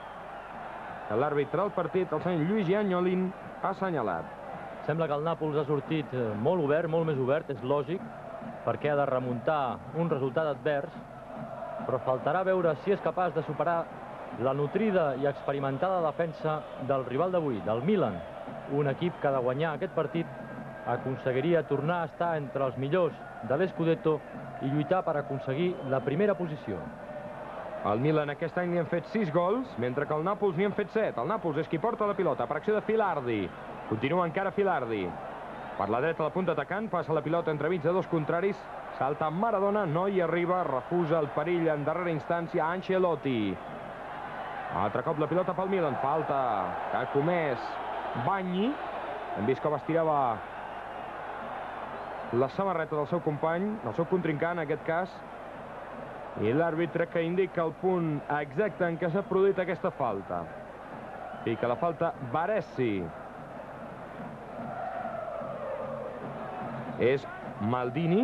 L'àrbitre del partit, el senyor Luigi Agnolin, ha assenyalat. Sembla que el Nàpols ha sortit molt obert, molt més obert, és lògic, perquè ha de remuntar un resultat advers, però faltarà veure si és capaç de superar la nutrida i experimentada defensa del rival d'avui, del Milan. Un equip que, de guanyar aquest partit, aconseguiria tornar a estar entre els millors de l'Scudetto i lluitar per aconseguir la primera posició. Al Milan aquest any n'hi han fet 6 gols, mentre que al Nàpols n'hi han fet 7. El Nàpols és qui porta la pilota per acció de Filardi. Continua encara Filardi. Per la dreta, la punta atacant, passa la pilota entremig de dos contraris, salta Maradona, no hi arriba, refusa el perill en darrera instància Ancelotti. Altre cop la pilota pel Milan, falta que ha comès Bagni. Hem vist com estirava la samarreta del seu company, del seu contrincant en aquest cas, i l'àrbitre que indica el punt exacte en què s'ha produït aquesta falta. Pica la falta Baresi. És Maldini.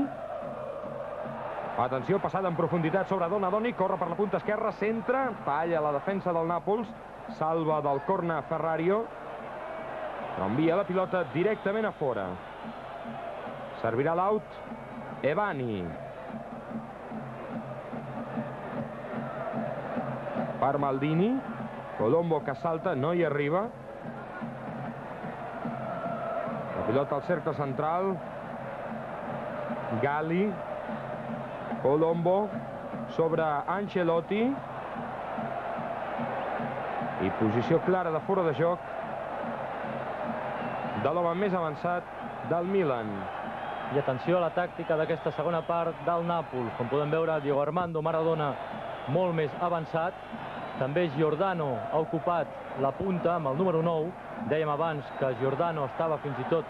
Atenció, passada en profunditat sobre Donadoni, corre per la punta esquerra, centra, talla la defensa del Nàpols, salva del corner Ferrario, envia la pilota directament a fora. Servirà l'out Evani. Per Maldini. Colombo que salta, no hi arriba. La pilota al cercle central. Galli. Colombo sobre Ancelotti. I posició clara de fora de joc de l'home més avançat del Milan. I atenció a la tàctica d'aquesta segona part del Nàpols. Com podem veure, Diego Armando Maradona molt més avançat. També Giordano ha ocupat la punta amb el número 9. Dèiem abans que Giordano estava fins i tot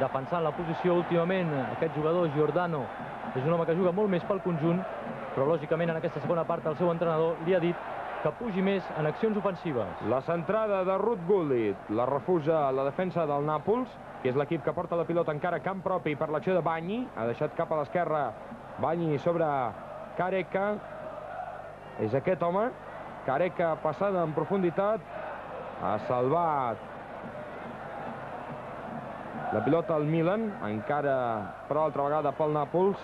defensant la posició. Últimament aquest jugador, Giordano, és un home que juga molt més pel conjunt, però lògicament en aquesta segona part el seu entrenador li ha dit que pugi més en accions ofensives. La centrada de Ruud Gullit la refusa la defensa del Nàpols, que és l'equip que porta la pilota encara a camp propi per l'acció de Bagni. Ha deixat cap a l'esquerra Bagni sobre Careca. És aquest home. Careca passada en profunditat. Ha salvat la pilota al Milan. Encara per altra vegada pel Nàpols.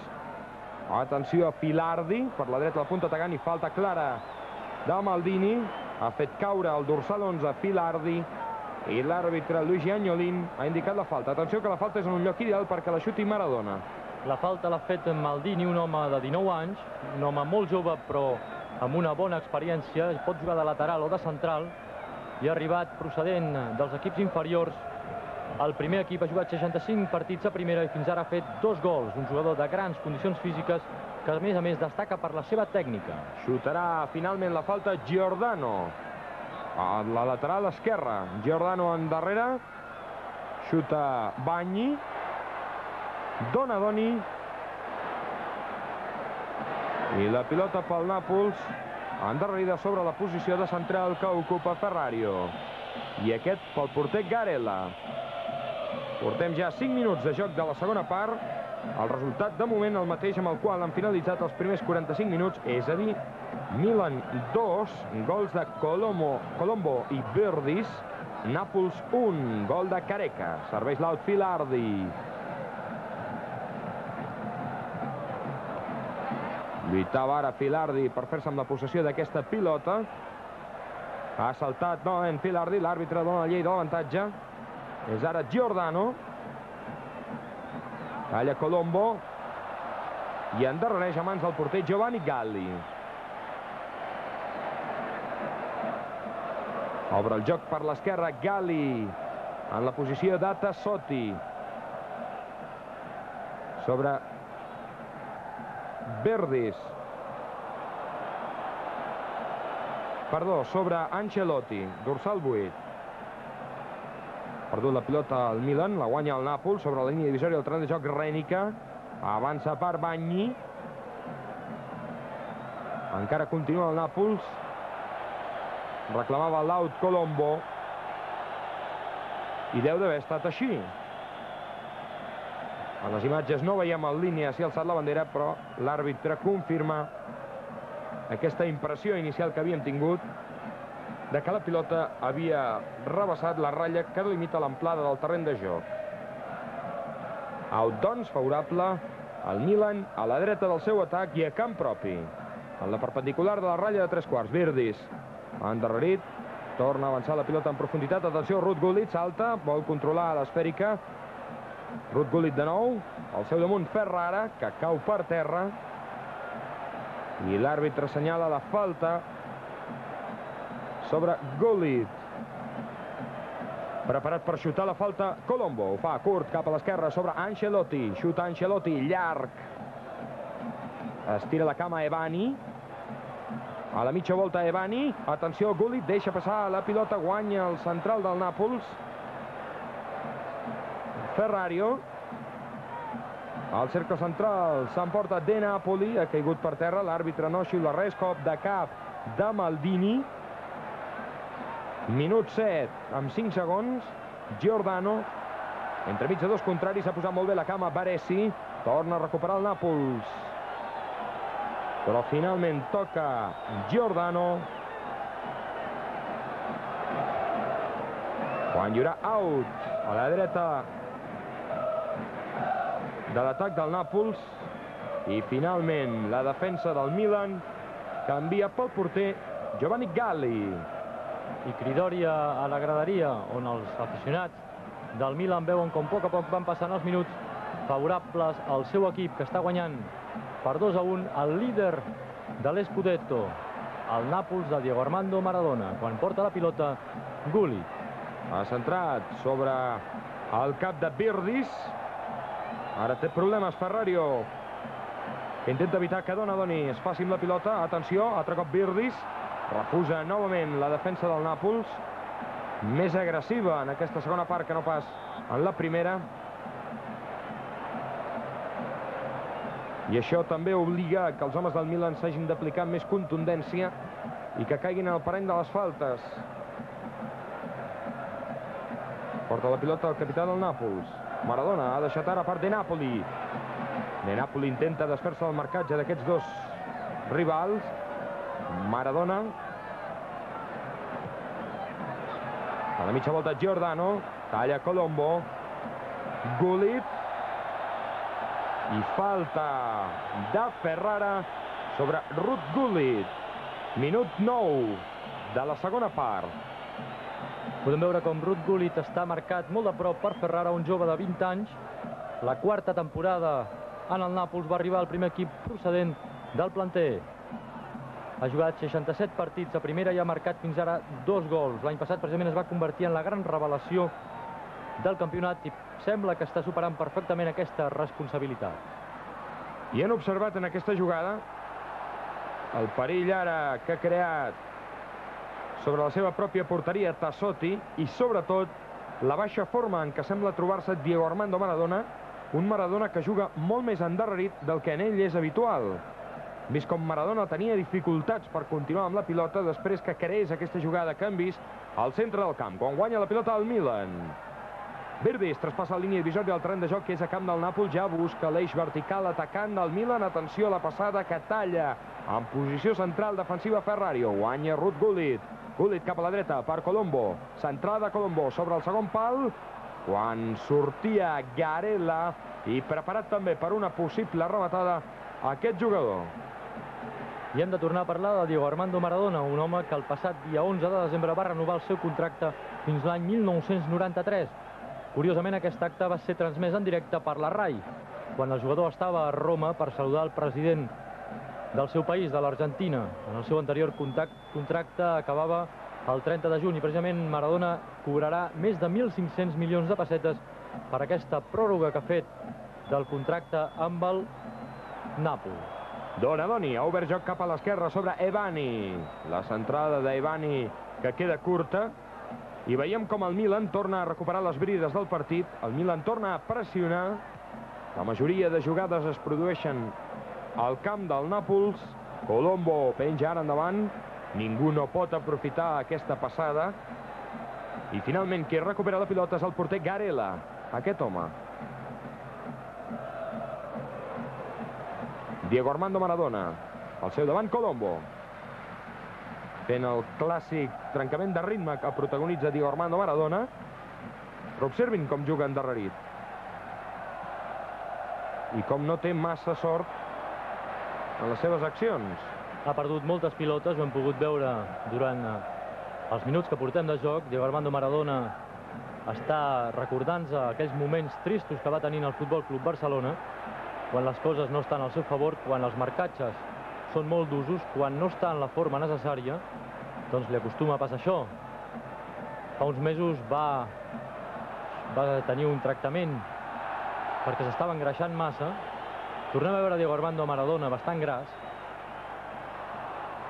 Atenció a Filardi. Per la dreta la punta atacant i falta clara de Maldini. Ha fet caure el dorsal 11 Filardi. I l'àrbitre Luigi Agnolin ha indicat la falta. Atenció que la falta és en un lloc ideal perquè la xuti Maradona. La falta l'ha fet Maldini, un home de 19 anys, un home molt jove però amb una bona experiència, pot jugar de lateral o de central, i ha arribat procedent dels equips inferiors. El primer equip ha jugat 65 partits a primera i fins ara ha fet 2 gols. Un jugador de grans condicions físiques que que a més destaca per la seva tècnica. Xutarà finalment la falta Giordano. A la lateral esquerra. Giordano endarrere. Xuta Bagni. Donadoni. I la pilota pel Nàpols, endarrerida sobre la posició de central que ocupa Ferrario. I aquest pel porter Garela. Portem ja 5 minuts de joc de la segona part. El resultat de moment el mateix amb el qual han finalitzat els primers 45 minuts, és a dir, Milan 2, gols de Colombo i Birdis, Nàpols 1, gol de Careca, serveix l'out Filardi. Lluitava ara Filardi per fer-se amb la possessió d'aquesta pilota. Ha saltat novament Filardi, l'àrbitre dona la llei de l'avantatge. És ara Giordano. Talla Colombo. I endarrereix a mans del porter Giovanni Galli. Obre el joc per l'esquerra Galli. En la posició de Tassotti. Sobre Birdis. Perdó, sobre Ancelotti, dorsal 8. Perdut la pilota al Milan, la guanya el Nàpols sobre la línia divisòria del terreny de joc Rènica. Avança per Bagni. Encara continua el Nàpols. Reclamava l'out Colombo. I deu d'haver estat així. A les imatges no veiem en línia si ha alçat la bandera, però l'àrbitre confirma aquesta impressió inicial que havíem tingut de que la pilota havia rebassat la ratlla que delimita l'amplada del terreny de joc. Out, doncs, favorable al Milan a la dreta del seu atac i a camp propi. En la perpendicular de la ratlla de 3/4. Birdis endarrerit, torna a avançar la pilota en profunditat. Atenció, Ruud Gullit salta, vol controlar l'esfèrica. Ruud Gullit de nou, al seu damunt Ferrara, que cau per terra. I l'àrbitre assenyala la falta sobre Gullit. Preparat per xutar la falta Colombo. Ho fa curt cap a l'esquerra sobre Ancelotti. Xuta Ancelotti, llarg. Estira la cama Evani. A la mitja volta Evani. Atenció, Gullit deixa passar la pilota. Guanya el central del Nàpols. Ferrario. Al cercle central s'emporta De Napoli. Ha caigut per terra. L'àrbitre no xiula res. Cop de cap de Maldini. Minut 7 amb 5 segons. Giordano. Entremig de dos contraris s'ha posat molt bé la cama Baresi. Torna a recuperar el Nàpols. Però finalment toca Giordano. Quan hi haurà out a la dreta de l'atac del Nàpols. I finalment la defensa del Milan canvia pel porter Giovanni Galli. I cridòria a la graderia, on els aficionats del Milan veuen com a poc van passant els minuts favorables al seu equip, que està guanyant per 2-1 el líder de l'Scudetto, el Nàpols de Diego Armando Maradona. Quan porta la pilota, Gullit. Ha centrat sobre el cap de Birdis. Ara té problemes Ferrario, que intenta evitar que Donadoni es faci amb la pilota. Atenció, altre cop Birdis. Refusa novament la defensa del Nàpols. Més agressiva en aquesta segona part que no pas en la primera. I això també obliga que els homes del Milan s'hagin d'aplicar més contundència i que caiguin en el parany de les faltes. Porta la pilota el capità del Nàpols. Maradona ha deixat ara per De Napoli. De Napoli intenta desfer-se del marcatge d'aquests dos rivals. Maradona. A la mitja volta Giordano. Talla Colombo. Gullit. I falta de Ferrara sobre Ruud Gullit. Minut 9 de la segona part. Podem veure com Ruud Gullit està marcat molt de prop per Ferrara, un jove de 20 anys. La quarta temporada en el Nàpols, va arribar al primer equip procedent del planter. Ha jugat 67 partits a primera i ha marcat fins ara 2 gols. L'any passat precisament es va convertir en la gran revelació del campionat i sembla que està superant perfectament aquesta responsabilitat. I han observat en aquesta jugada el perill ara que ha creat sobre la seva pròpia porteria Tassotti i sobretot la baixa forma en què sembla trobar-se Diego Armando Maradona, un Maradona que juga molt més endarrerit del que en ell és habitual. Vist com Maradona tenia dificultats per continuar amb la pilota després que creés aquesta jugada que hem vist al centre del camp, quan guanya la pilota el Milan. Virdis traspassa la línia divisòria del terreny de joc, que és a camp del Nàpols, ja busca l'eix vertical atacant del Milan. Atenció a la passada que talla en posició central defensiva Ferrario. Guanya Ruud Gullit. Gullit cap a la dreta per Colombo. Centrada Colombo sobre el segon pal, quan sortia Garela i preparat també per una possible rematada aquest jugador. I hem de tornar a parlar de Diego Armando Maradona, un home que el passat dia 11 de desembre va renovar el seu contracte fins l'any 1993. Curiosament, aquest acte va ser transmès en directe per la RAI, quan el jugador estava a Roma per saludar el president del seu país, de l'Argentina. En el seu anterior contracte acabava el 30 de juny i precisament Maradona cobrarà més de 1.500 milions de pessetes per aquesta pròrroga que ha fet del contracte amb el Nàpols. Donadoni ha obert joc cap a l'esquerra sobre Evani. La centrada d'Evani que queda curta. I veiem com el Milan torna a recuperar les brides del partit. El Milan torna a pressionar. La majoria de jugades es produeixen al camp del Nàpols. Colombo penja ara endavant. Ningú no pot aprofitar aquesta passada. I finalment qui recupera la pilota és el porter Garela. Aquest home. Diego Armando Maradona. Al seu davant Colombo. Fent el clàssic trencament de ritme que protagonitza Diego Armando Maradona. Però observin com juga endarrerit. I com no té massa sort en les seves accions. Ha perdut moltes pilotes, ho hem pogut veure durant els minuts que portem de joc. Diego Armando Maradona està recordant-se aquells moments tristos que va tenir en el Futbol Club Barcelona, quan les coses no estan al seu favor, quan els marcatges són molt d'usos, quan no està en la forma necessària, doncs li acostuma a passar això. Fa uns mesos va tenir un tractament perquè s'estava engreixant massa. Tornem a veure Diego Armando Maradona bastant gras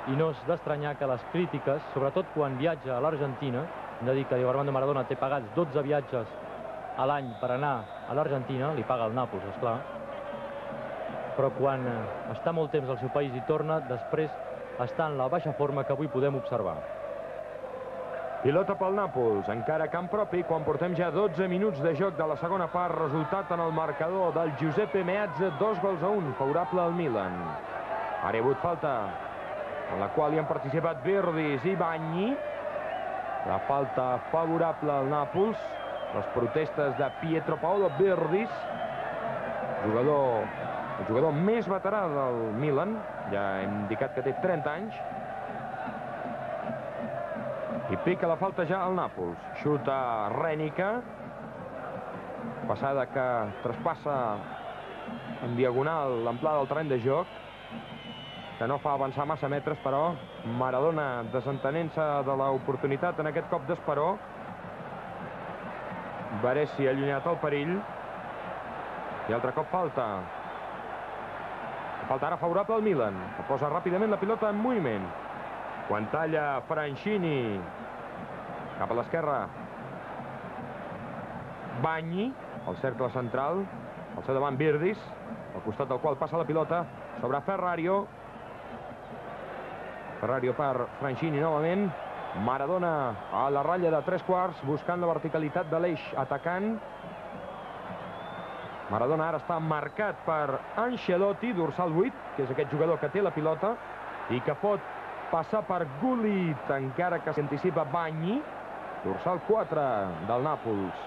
i no és d'estranyar que les crítiques, sobretot quan viatja a l'Argentina, hem de dir que Diego Armando Maradona té pagats 12 viatges a l'any per anar a l'Argentina, li paga el Nàpols, esclar, però quan està molt temps al seu país i torna, després està en la baixa forma que avui podem observar. Pilota pel Nàpols, encara a camp propi, quan portem ja 12 minuts de joc de la segona part. Resultat en el marcador del Giuseppe Meazza, 2-1, favorable al Milan. Ara hi ha hagut falta, en la qual hi han participat Virdis i Bagni. La falta favorable al Nàpols. Les protestes de Pietro Paolo Virdis, el jugador més veterà del Milan, ja hem indicat que té 30 anys. I pica la falta ja al Nàpols. Xuta Rènica. Passada que traspassa en diagonal l'amplada del terreny de joc, que no fa avançar massa metres, però Maradona desentenent-se de l'oportunitat en aquest cop d'Esperó. Baresi ha allunyat el perill. I altre cop falta. Falta ara favorable al Milan, que posa ràpidament la pilota en moviment. Quan talla Franchini cap a l'esquerra, Bagni, al cercle central, al seu davant Virdis, al costat del qual passa la pilota sobre Ferrario. Ferrario per Franchini novament. Maradona a la ratlla de 3/4, buscant la verticalitat de l'eix atacant. Maradona ara està marcat per Ancelotti, dorsal 8, que és aquest jugador que té la pilota i que pot passar per Gullit, encara que s'anticipa Bagni, dorsal 4 del Nàpols.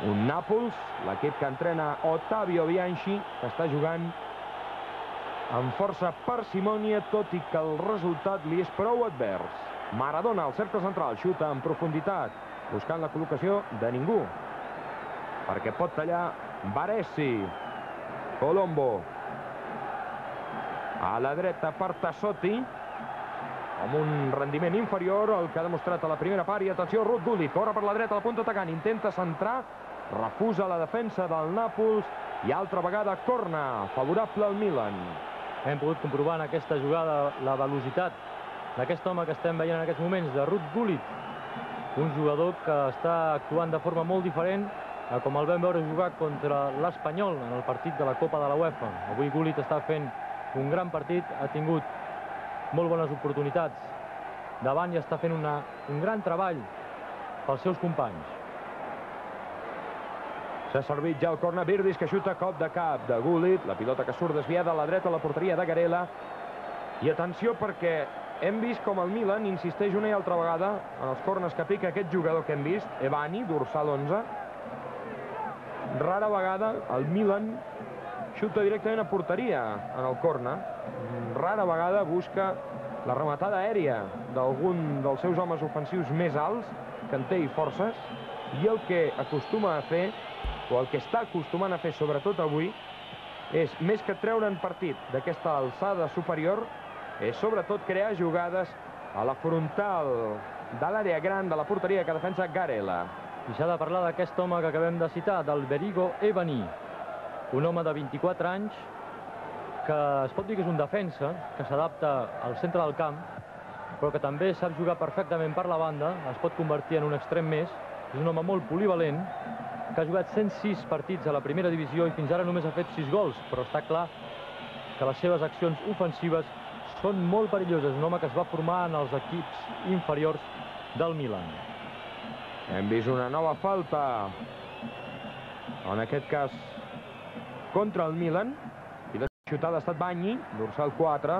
Un Nàpols, l'equip que entrena Ottavio Bianchi, que està jugant amb força parsimònia, tot i que el resultat li és prou advers. Maradona al cercle central, xuta en profunditat, buscant la col·locació de ningú, perquè pot tallar Baresi. Colombo a la dreta per Tassotti, amb un rendiment inferior al que ha demostrat a la primera part. I atenció, Ruud Gullit corre per la dreta, la punta atacant, intenta centrar, refusa la defensa del Nàpols I altra vegada corna, favorable al Milan. Hem pogut comprovar en aquesta jugada la velocitat d'aquest home que estem veient en aquests moments, de Ruud Gullit. Un jugador que està actuant de forma molt diferent a com el vam veure jugar contra l'Espanyol en el partit de la Copa de la UEFA. Avui Gullit està fent un gran partit, ha tingut molt bones oportunitats davant i està fent un gran treball pels seus companys. S'ha servit ja el corna, Virdis que xuta cop de cap de Gullit, la pilota que surt desviada a la dreta a la porteria de Garela. I atenció perquè hem vist com el Milan insisteix una i altra vegada en els cornes que pica aquest jugador que hem vist, Evani, dorsal 11. Rara vegada el Milan xuta directament a porteria en el corna. Rara vegada busca la rematada aèria d'algun dels seus homes ofensius més alts, que en té i forces, i el que acostuma a fer, o el que està acostumant a fer sobretot avui, és, més que treure en partit d'aquesta alçada superior, és sobretot crear jugades a la frontal de l'àrea gran de la porteria que defensa Garela. I s'ha de parlar d'aquest home que acabem de citar, del Berigo Evani, un home de 24 anys que es pot dir que és un defensa, que s'adapta al centre del camp, però que també sap jugar perfectament per la banda, es pot convertir en un extrem més. És un home molt polivalent, que ha jugat 106 partits a la primera divisió i fins ara només ha fet 6 gols, però està clar que les seves accions ofensives són molt perilloses. Un home que es va formar en els equips inferiors del Milan. Hem vist una nova falta, en aquest cas contra el Milan, i la xutada ha estat Bagni, dorsal 4.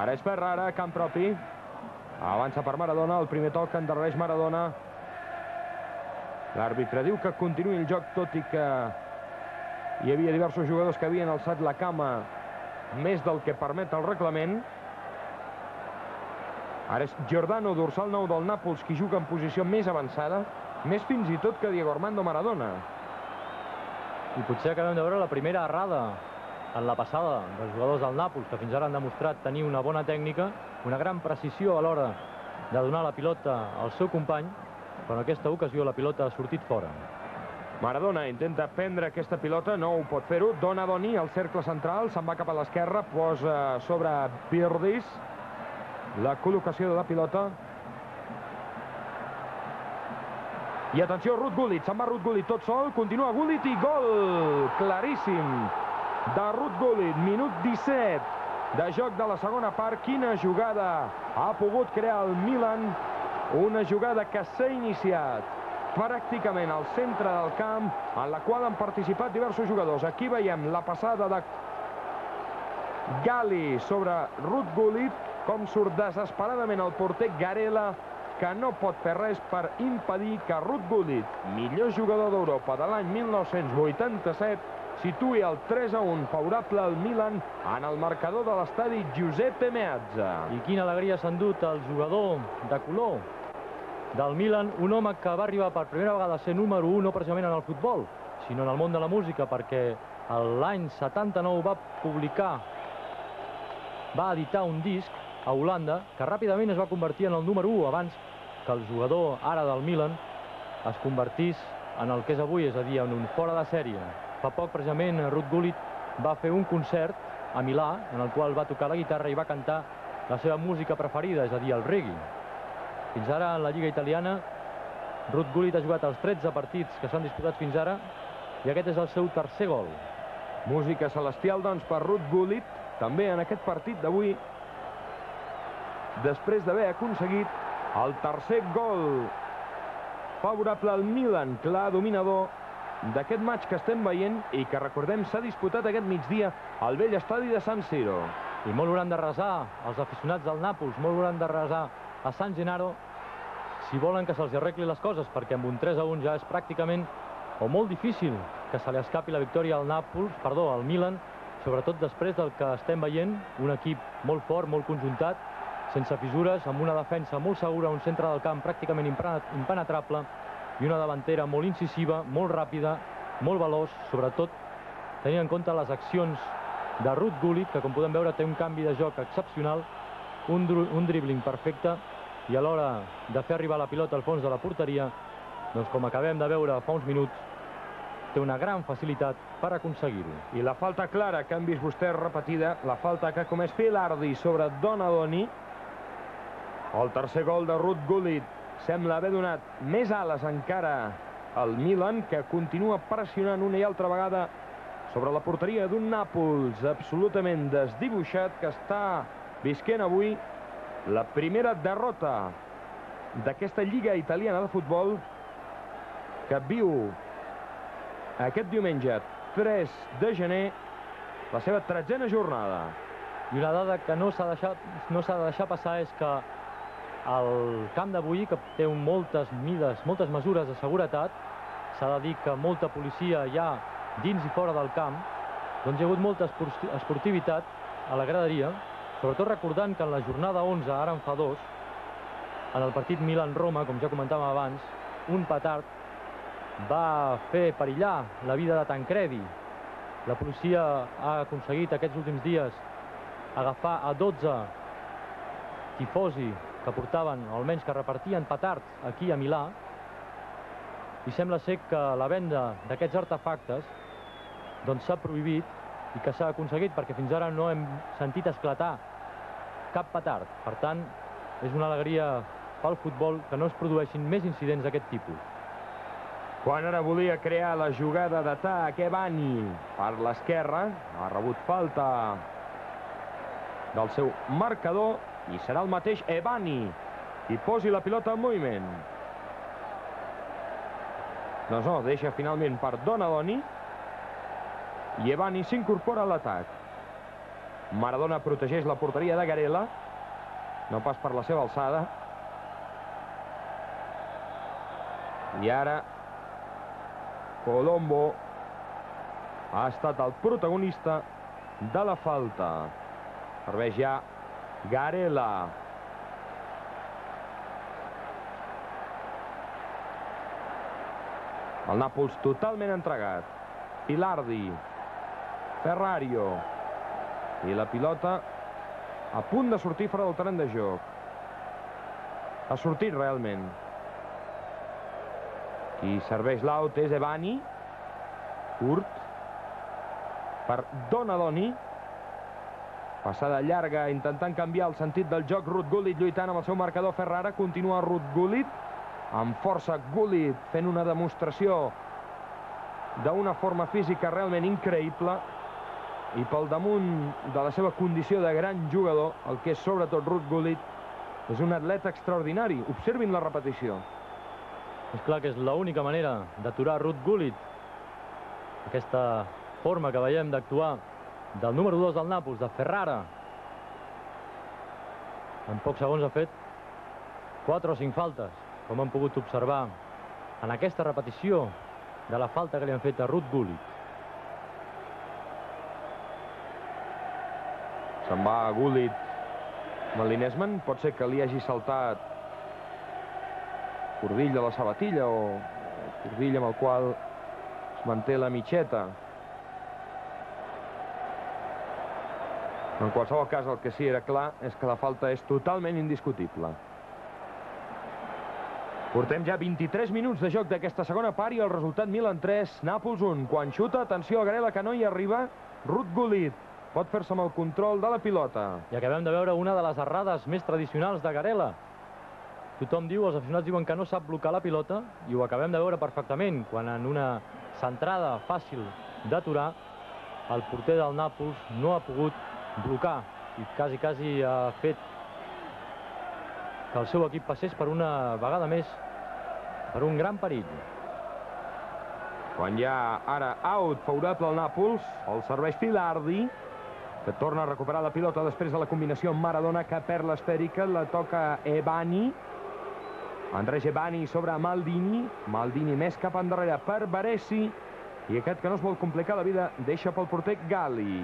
Ara és Ferrara, camp propi, avança per Maradona, el primer toc endarrereix Maradona. L'àrbitre diu que continuï el joc, tot i que hi havia diversos jugadors que havien alçat la cama més del que permet el reglament. Ara és Giordano, dorsal 9 del Nàpols, qui juga en posició més avançada, més fins i tot que Diego Armando Maradona. I potser acabem de veure la primera errada en la passada dels jugadors del Nàpols, que fins ara han demostrat tenir una bona tècnica, una gran precisió a l'hora de donar la pilota al seu company, però en aquesta ocasió la pilota ha sortit fora. Maradona intenta prendre aquesta pilota, no ho pot fer-ho. Donadoni al cercle central, se'n va cap a l'esquerra, posa sobre Virdis la col·locació de la pilota. I atenció, Ruud Gullit, se'n va Ruud Gullit tot sol, continua Gullit i gol claríssim de Ruud Gullit, minut 17 de joc de la segona part. Quina jugada ha pogut crear el Milan, una jugada que s'ha iniciat pràcticament al centre del camp, en la qual han participat diversos jugadors. Aquí veiem la passada de Gali sobre Ruud Gullit, com surt desesperadament el porter Garela, que no pot fer res per impedir que Ruud Gullit, millor jugador d'Europa de l'any 1987, situï el 3-1 favorable al Milan en el marcador de l'estadi Giuseppe Meazza. I quina alegria s'ha endut el jugador de color del Milan, un home que va arribar per primera vegada a ser número 1 no precisament en el futbol, sinó en el món de la música, perquè l'any 79 va editar un disc a Holanda que ràpidament es va convertir en el número 1 abans que el jugador ara del Milan es convertís en el que és avui, és a dir, en un fora de sèrie. Fa poc, precisament, Ruud Gullit va fer un concert a Milà, en el qual va tocar la guitarra i va cantar la seva música preferida, és a dir, el reggae. Fins ara, en la Lliga italiana, Ruud Gullit ha jugat els 13 partits que s'han disputat fins ara i aquest és el seu tercer gol. Música celestial, doncs, per Ruud Gullit, també en aquest partit d'avui, després d'haver aconseguit el tercer gol favorable al Milan, clar dominador d'aquest match que estem veient i que, recordem, s'ha disputat aquest migdia al vell estadi de San Siro. I molt hauran de resar els aficionats del Nàpols, molt hauran de resar a San Gennaro si volen que se'ls arregli les coses, perquè amb un 3-1 ja és pràcticament o molt difícil que se li escapi la victòria al Milan, sobretot després del que estem veient, un equip molt fort, molt conjuntat, sense fissures, amb una defensa molt segura, un centre del camp pràcticament impenetrable i una davantera molt incisiva, molt ràpida, molt veloç, sobretot tenint en compte les accions de Ruud Gullit, que com podem veure té un canvi de joc excepcional, un dribbling perfecte, i a l'hora de fer arribar la pilota al fons de la porteria, doncs com acabem de veure fa uns minuts, té una gran facilitat per aconseguir-ho. I la falta clara que han vist vostès repetida, la falta que ha comès Filardi sobre Donadoni. El tercer gol de Ruud Gullit sembla haver donat més ales encara al Milan, que continua pressionant una i altra vegada sobre la porteria d'un Nàpols absolutament desdibuixat, que està visquent avui la primera derrota d'aquesta Lliga Italiana de Futbol, que viu aquest diumenge 3 de gener la seva 13a jornada. I una dada que no s'ha de deixar passar és que el camp d'avui, que té moltes mesures de seguretat, s'ha de dir que molta policia hi ha dins i fora del camp, doncs hi ha hagut molta esportivitat a la graderia, sobretot recordant que en la jornada 11, ara en fa 2, en el partit Milan-Roma, com ja comentàvem abans, un petard va fer perillar la vida de Tancredi. La policia ha aconseguit aquests últims dies agafar a 12 tifosi que portaven, o almenys que repartien petards aquí a Milà, i sembla ser que la venda d'aquests artefactes doncs s'ha prohibit i que s'ha aconseguit, perquè fins ara no hem sentit esclatar cap petard. Per tant, és una alegria pel futbol que no es produeixin més incidents d'aquest tipus. Quan ara volia crear la jugada d'atac, Ebani per l'esquerra, ha rebut falta del seu marcador i serà el mateix Ebani qui posi la pilota en moviment. Doncs no, deixa finalment per Donadoni i Ebani s'incorpora a l'atac. Maradona protegeix la porteria de Garela, no pas per la seva alçada. I ara Colombo ha estat el protagonista de la falta. Serveix ja Garela. El Nàpols totalment entregat. Filardi, Ferrario, i la pilota a punt de sortir fora del terreny de joc. Ha sortit realment. Qui serveix l'out és Ebani, curt, per Donadoni. Passada llarga, intentant canviar el sentit del joc. Ruud Gullit lluitant amb el seu marcador. Ferrara, continua Ruud Gullit, amb força Gullit, fent una demostració d'una forma física realment increïble, i pel damunt de la seva condició de gran jugador, el que és sobretot Ruud Gullit, és un atleta extraordinari. Observin la repetició. És clar que és l'única manera d'aturar Ruud Gullit. Aquesta forma que veiem d'actuar del número 2 del Nàpols, de Ferrara. En pocs segons ha fet 4 o 5 faltes, com hem pogut observar en aquesta repetició de la falta que li han fet a Ruud Gullit. Se'n va Gullit amb el Linesman. Pot ser que li hagi saltat cordill de la sabatilla o cordill amb el qual es manté la mitxeta. En qualsevol cas, el que sí era clar és que la falta és totalment indiscutible. Portem ja 23 minuts de joc d'aquesta segona part i el resultat Milan 3, Nàpols 1. Quan xuta, atenció a Garela, que no hi arriba. Ruud Gullit pot fer-se amb el control de la pilota. I acabem de veure una de les errades més tradicionals de Garela. Tothom diu, els aficionats diuen que no sap blocar la pilota, i ho acabem de veure perfectament, quan en una centrada fàcil d'aturar, el porter del Nàpols no ha pogut blocar, i quasi ha fet que el seu equip passés per una vegada més per un gran perill. Quan hi ha ara out favorable al Nàpols, el serveix Filardi, que torna a recuperar la pilota després de la combinació amb Maradona, que perd l'esfèrica, la toca Ebani. Andrés Ebani sobre Maldini. Maldini més cap endarrere per Baresi, i aquest, que no es vol complicar la vida, deixa pel porter Gali.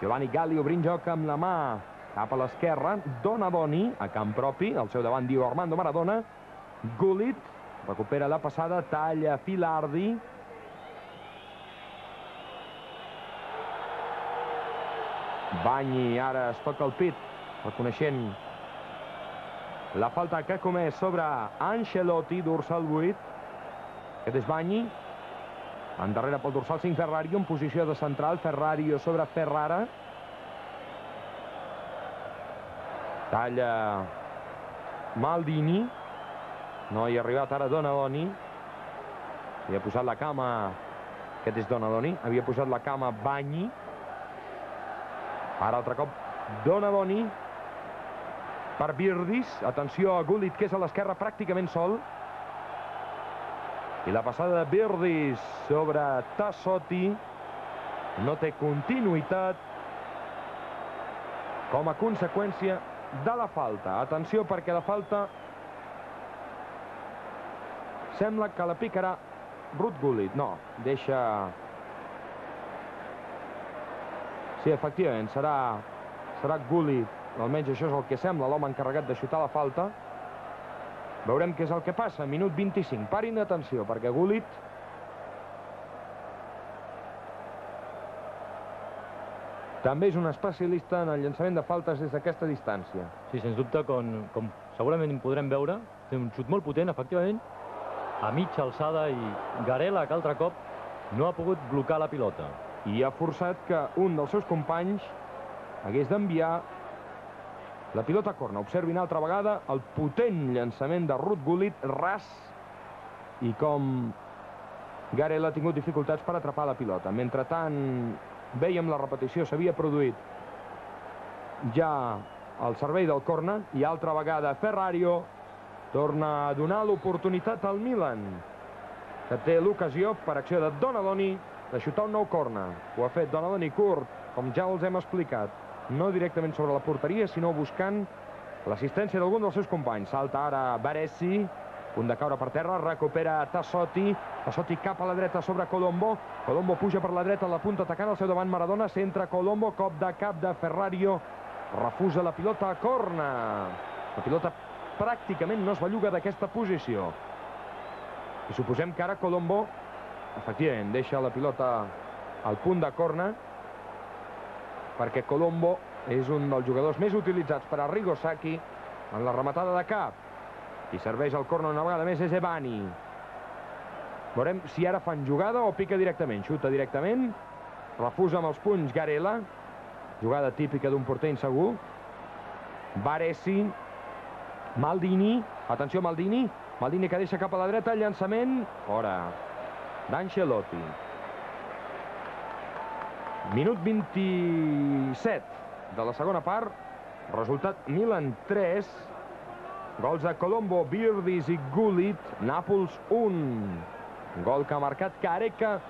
Giovanni Gali obrint joc amb la mà cap a l'esquerra. Donadoni a camp propi, al seu davant diu Armando Maradona. Gullit recupera la passada, talla Filardi. Bagni ara es toca el pit, reconeixent la falta que ha comès sobre Ancelotti, dorsal 8. Aquest és Bagni. Endarrere pel dorsal 5 Ferrario en posició de central. Ferrario sobre Ferrara. Talla Maldini. No hi ha arribat ara Donadoni. Havia posat la cama... Aquest és Donadoni. Havia posat la cama Bagni. Ara altre cop Donadoni. Per Virdis. Atenció a Gullit, que és a l'esquerra pràcticament sol. I la passada de Virdis sobre Tassotti no té continuïtat com a conseqüència de la falta. Atenció, perquè la falta sembla que la picarà Ruud Gullit. No, deixa... Sí, efectivament, serà Gullit. Almenys això és el que sembla, l'home encarregat de xutar la falta. Veurem què és el que passa. Minut 25. Parin d'atenció, perquè Gullit també és un especialista en el llançament de faltes des d'aquesta distància. Sí, sens dubte, com segurament podrem veure, té un xut molt potent, efectivament, a mitja alçada, i Garela, que altre cop no ha pogut blocar la pilota. I ha forçat que un dels seus companys hagués d'enviar la pilota a corna. Observin altra vegada el potent llançament de Ruud Gullit, ras, i com Garela ha tingut dificultats per atrapar la pilota. Mentrestant, veiem la repetició, s'havia produït ja al servei del corna, i altra vegada Ferrario torna a donar l'oportunitat al Milan, que té l'ocasió, per acció de Donadoni, de xutar un nou corna. Ho ha fet Donadoni curt, com ja els hem explicat, no directament sobre la porteria, sinó buscant l'assistència d'algun dels seus companys. Salta ara Baresi, punt de caure per terra, recupera Tassotti. Tassotti cap a la dreta sobre Colombo. Colombo puja per la dreta a la punta, atacant al seu davant Maradona. Centra Colombo, cop de cap de Ferrario. Refusa la pilota a corna. La pilota pràcticament no es belluga d'aquesta posició. I suposem que ara Colombo, efectivament, deixa la pilota al punt de corna, perquè Colombo és un dels jugadors més utilitzats per Arrigo Sacchi en la rematada de cap. I serveix el corna una vegada més és Ebani. Veurem si ara fan jugada o pica directament. Xuta directament, refusa amb els punys Garela, jugada típica d'un porter insegur. Baresi, Maldini, atenció Maldini, Maldini que deixa cap a la dreta, llançament, fora, d'Ancelotti. Minut 27 de la segona part, resultat Milan 3, gols de Colombo, Virdis i Gullit, Nàpols 1, gol que ha marcat Careca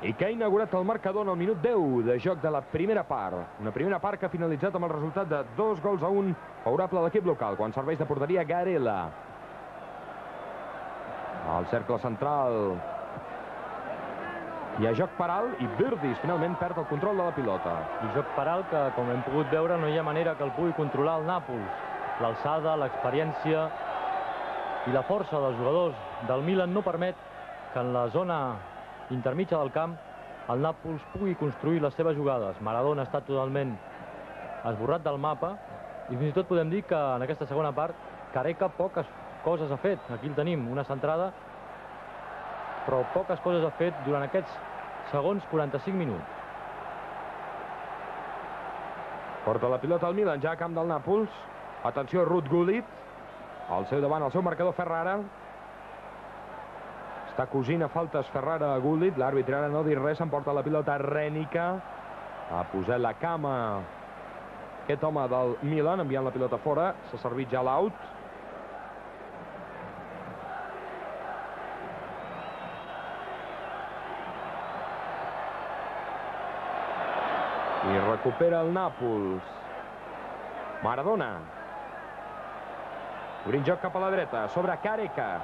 i que ha inaugurat el marcador en el minut 10 de joc de la primera part. Una primera part que ha finalitzat amb el resultat de 2-1 favorable a l'equip local, quan serveix de porteria Garela. Al cercle central hi ha joc per alt i Virdis finalment perd el control de la pilota. I joc per alt que, com hem pogut veure, no hi ha manera que el pugui controlar el Nàpols. L'alçada, l'experiència i la força dels jugadors del Milan no permet que en la zona intermitja del camp el Nàpols pugui construir les seves jugades. Maradona està totalment esborrat del mapa i fins i tot podem dir que en aquesta segona part Careca poques coses ha fet. Aquí el tenim, una centrada, però poques coses ha fet durant aquests segons 45 minuts. Porta la pilota al Milan, ja a camp del Nàpols. Atenció, Ruud Gullit. Al seu davant, el seu marcador Ferrara. Està cosint a faltes Ferrara a Gullit. L'àrbitre ara no dir res, s'emporta la pilota Rènica. Ha posat la cama aquest home del Milan, enviant la pilota fora. S'ha servit ja l'out. I recupera el Nàpols. Maradona. Obrint joc cap a la dreta, sobre Careca.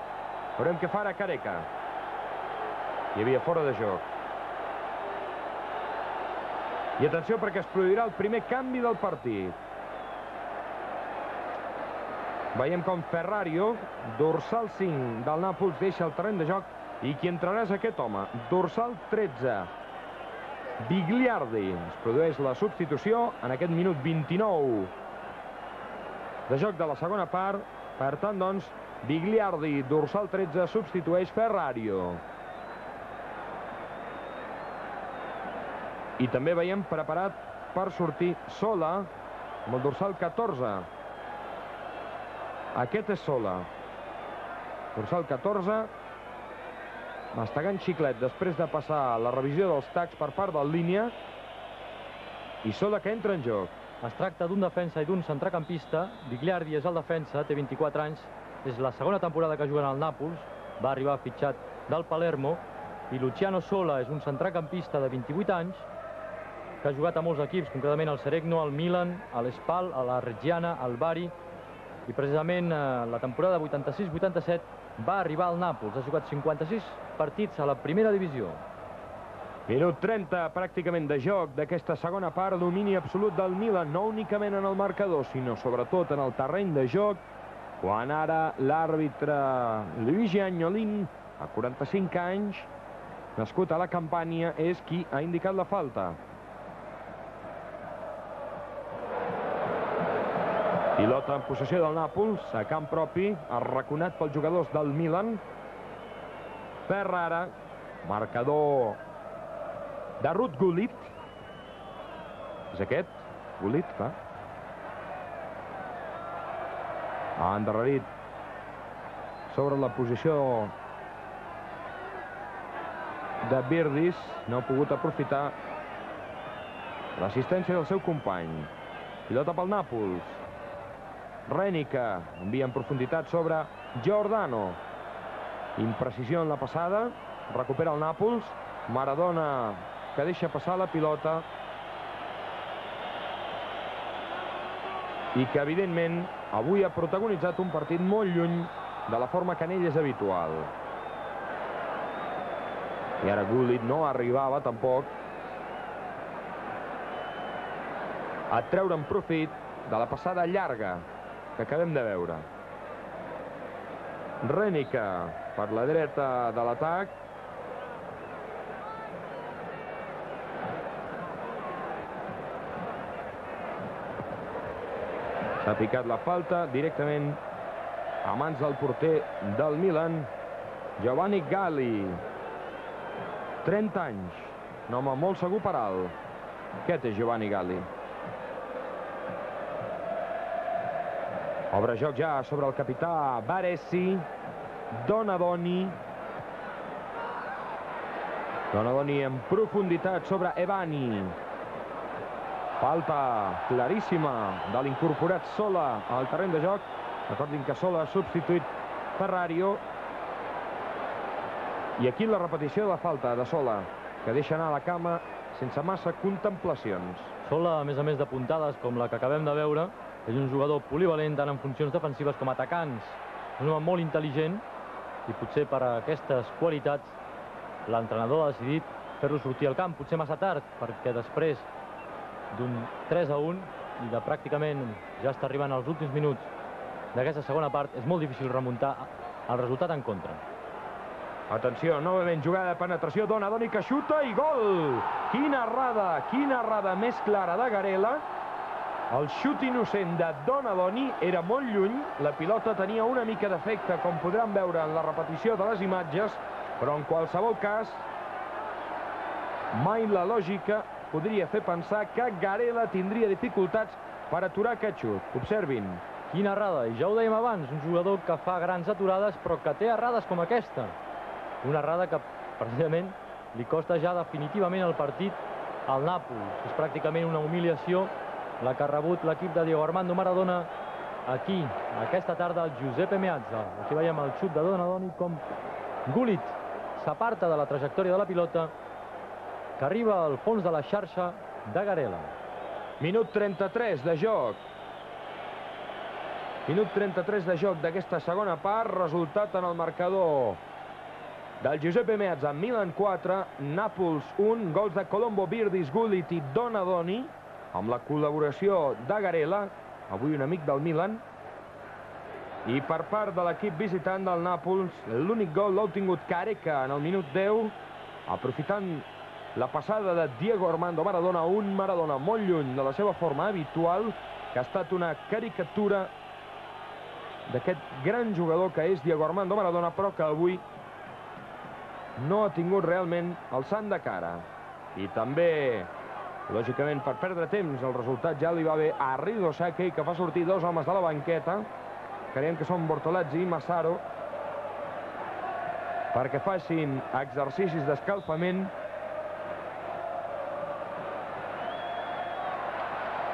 Veurem què farà Careca. Hi havia fora de joc. I atenció perquè es produirà el primer canvi del partit. Veiem com Ferrario, dorsal 5 del Nàpols, deixa el terreny de joc i qui entrarà és aquest home, dorsal 13. Bigliardi. Es produeix la substitució en aquest minut 29 de joc de la segona part. Per tant, doncs, Bigliardi, dorsal 13, substitueix Ferrario. I també veiem preparat per sortir Sola, amb el dorsal 14. Aquest és Sola. Dorsal 14. Mastegant xiclet després de passar la revisió dels tacs per part del línia. I Sola que entra en joc. Es tracta d'un defensa i d'un centrecampista. Vigliardi és el defensa, té 24 anys. És la segona temporada que juguen al Nàpols. Va arribar fitxat del Palermo. I Luciano Sola és un centrecampista de 28 anys que ha jugat a molts equips, concretament al Seregno, al Milan, a l'Espal, a la Reggiana, al Bari. I precisament la temporada 86-87 va arribar al Nàpols. Ha jugat 56 partits a la primera divisió. Minut 30 pràcticament de joc d'aquesta segona part. Domini absolut del Milan, no únicament en el marcador, sinó sobretot en el terreny de joc, quan ara l'àrbitre Luigi Agnolin, a 45 anys, nascut a la Campània, és qui ha indicat la falta. Pilota en possessió del Nàpols, a camp propi, arraconat pels jugadors del Milan. Ferrara, marcador de Ruud Gullit. És aquest, Gullit, clar. Ha endarrerit sobre la posició de Birdis. No ha pogut aprofitar l'assistència del seu company. Pilota pel Nàpols. Renica envia en profunditat sobre Giordano. Imprecisió en la passada. Recupera el Nàpols. Maradona que deixa passar la pilota. I que, evidentment, avui ha protagonitzat un partit molt lluny de la forma que en ell és habitual. I ara Gullit no arribava, tampoc, a treure'n profit de la passada llarga que acabem de veure. Renica per la dreta de l'atac. S'ha picat la falta directament a mans del porter del Milan, Giovanni Galli. 30 anys, un home molt segur per alt. Aquest és Giovanni Galli. Obre joc ja sobre el capità Baresi. Donadoni. Donadoni en profunditat sobre Evani. Falta claríssima de l'incorporat Sola al terreny de joc. Recordin que Sola ha substituït Ferrario. I aquí la repetició de la falta de Sola, que deixa anar la cama sense massa contemplacions. Sola, a més de puntades com la que acabem de veure, és un jugador polivalent tant en funcions defensives com atacants. És un home molt intel·ligent i potser per aquestes qualitats l'entrenador ha decidit fer-lo sortir al camp, potser massa tard, perquè després d'un 3-1 i de pràcticament ja està arribant als últims minuts d'aquesta segona part, és molt difícil remuntar el resultat en contra. Atenció, novament jugada de penetració, Donadoni que xuta i gol! Quina errada més clara de Garela. El xut innocent de Donadoni era molt lluny, la pilota tenia una mica d'efecte, com podran veure en la repetició de les imatges, però en qualsevol cas, mai la lògica podria fer pensar que Garela tindria dificultats per aturar aquest xut. Observin. Quina errada, i ja ho dèiem abans, un jugador que fa grans aturades, però que té errades com aquesta. Una errada que, precisament, li costa ja definitivament el partit al Nàpols. És pràcticament una humiliació la que ha rebut l'equip de Diego Armando Maradona aquí, aquesta tarda, al Giuseppe Meazza. Aquí veiem el xut de Donadoni com Gullit s'aparta de la trajectòria de la pilota que arriba al fons de la xarxa de Garela. Minut 33 de joc. Minut 33 de joc d'aquesta segona part. Resultat en el marcador del Giuseppe Meazza. Milan 4, Nàpols 1. Gols de Colombo, Birdis, Gullit i Donadoni, amb la col·laboració de Garela, avui un amic del Milan. I per part de l'equip visitant del Nàpols, l'únic gol l'ha obtingut Careca en el minut 10, aprofitant la passada de Diego Armando Maradona, un Maradona molt lluny de la seva forma habitual, que ha estat una caricatura d'aquest gran jugador que és Diego Armando Maradona, però que avui no ha tingut realment el sant de cara. I també Lògicament, per perdre temps, el resultat ja li va bé a Arrigo Sacchi, que fa sortir dos homes de la banqueta, creiem que són Bortolazzi i Massaro, perquè facin exercicis d'escalfament,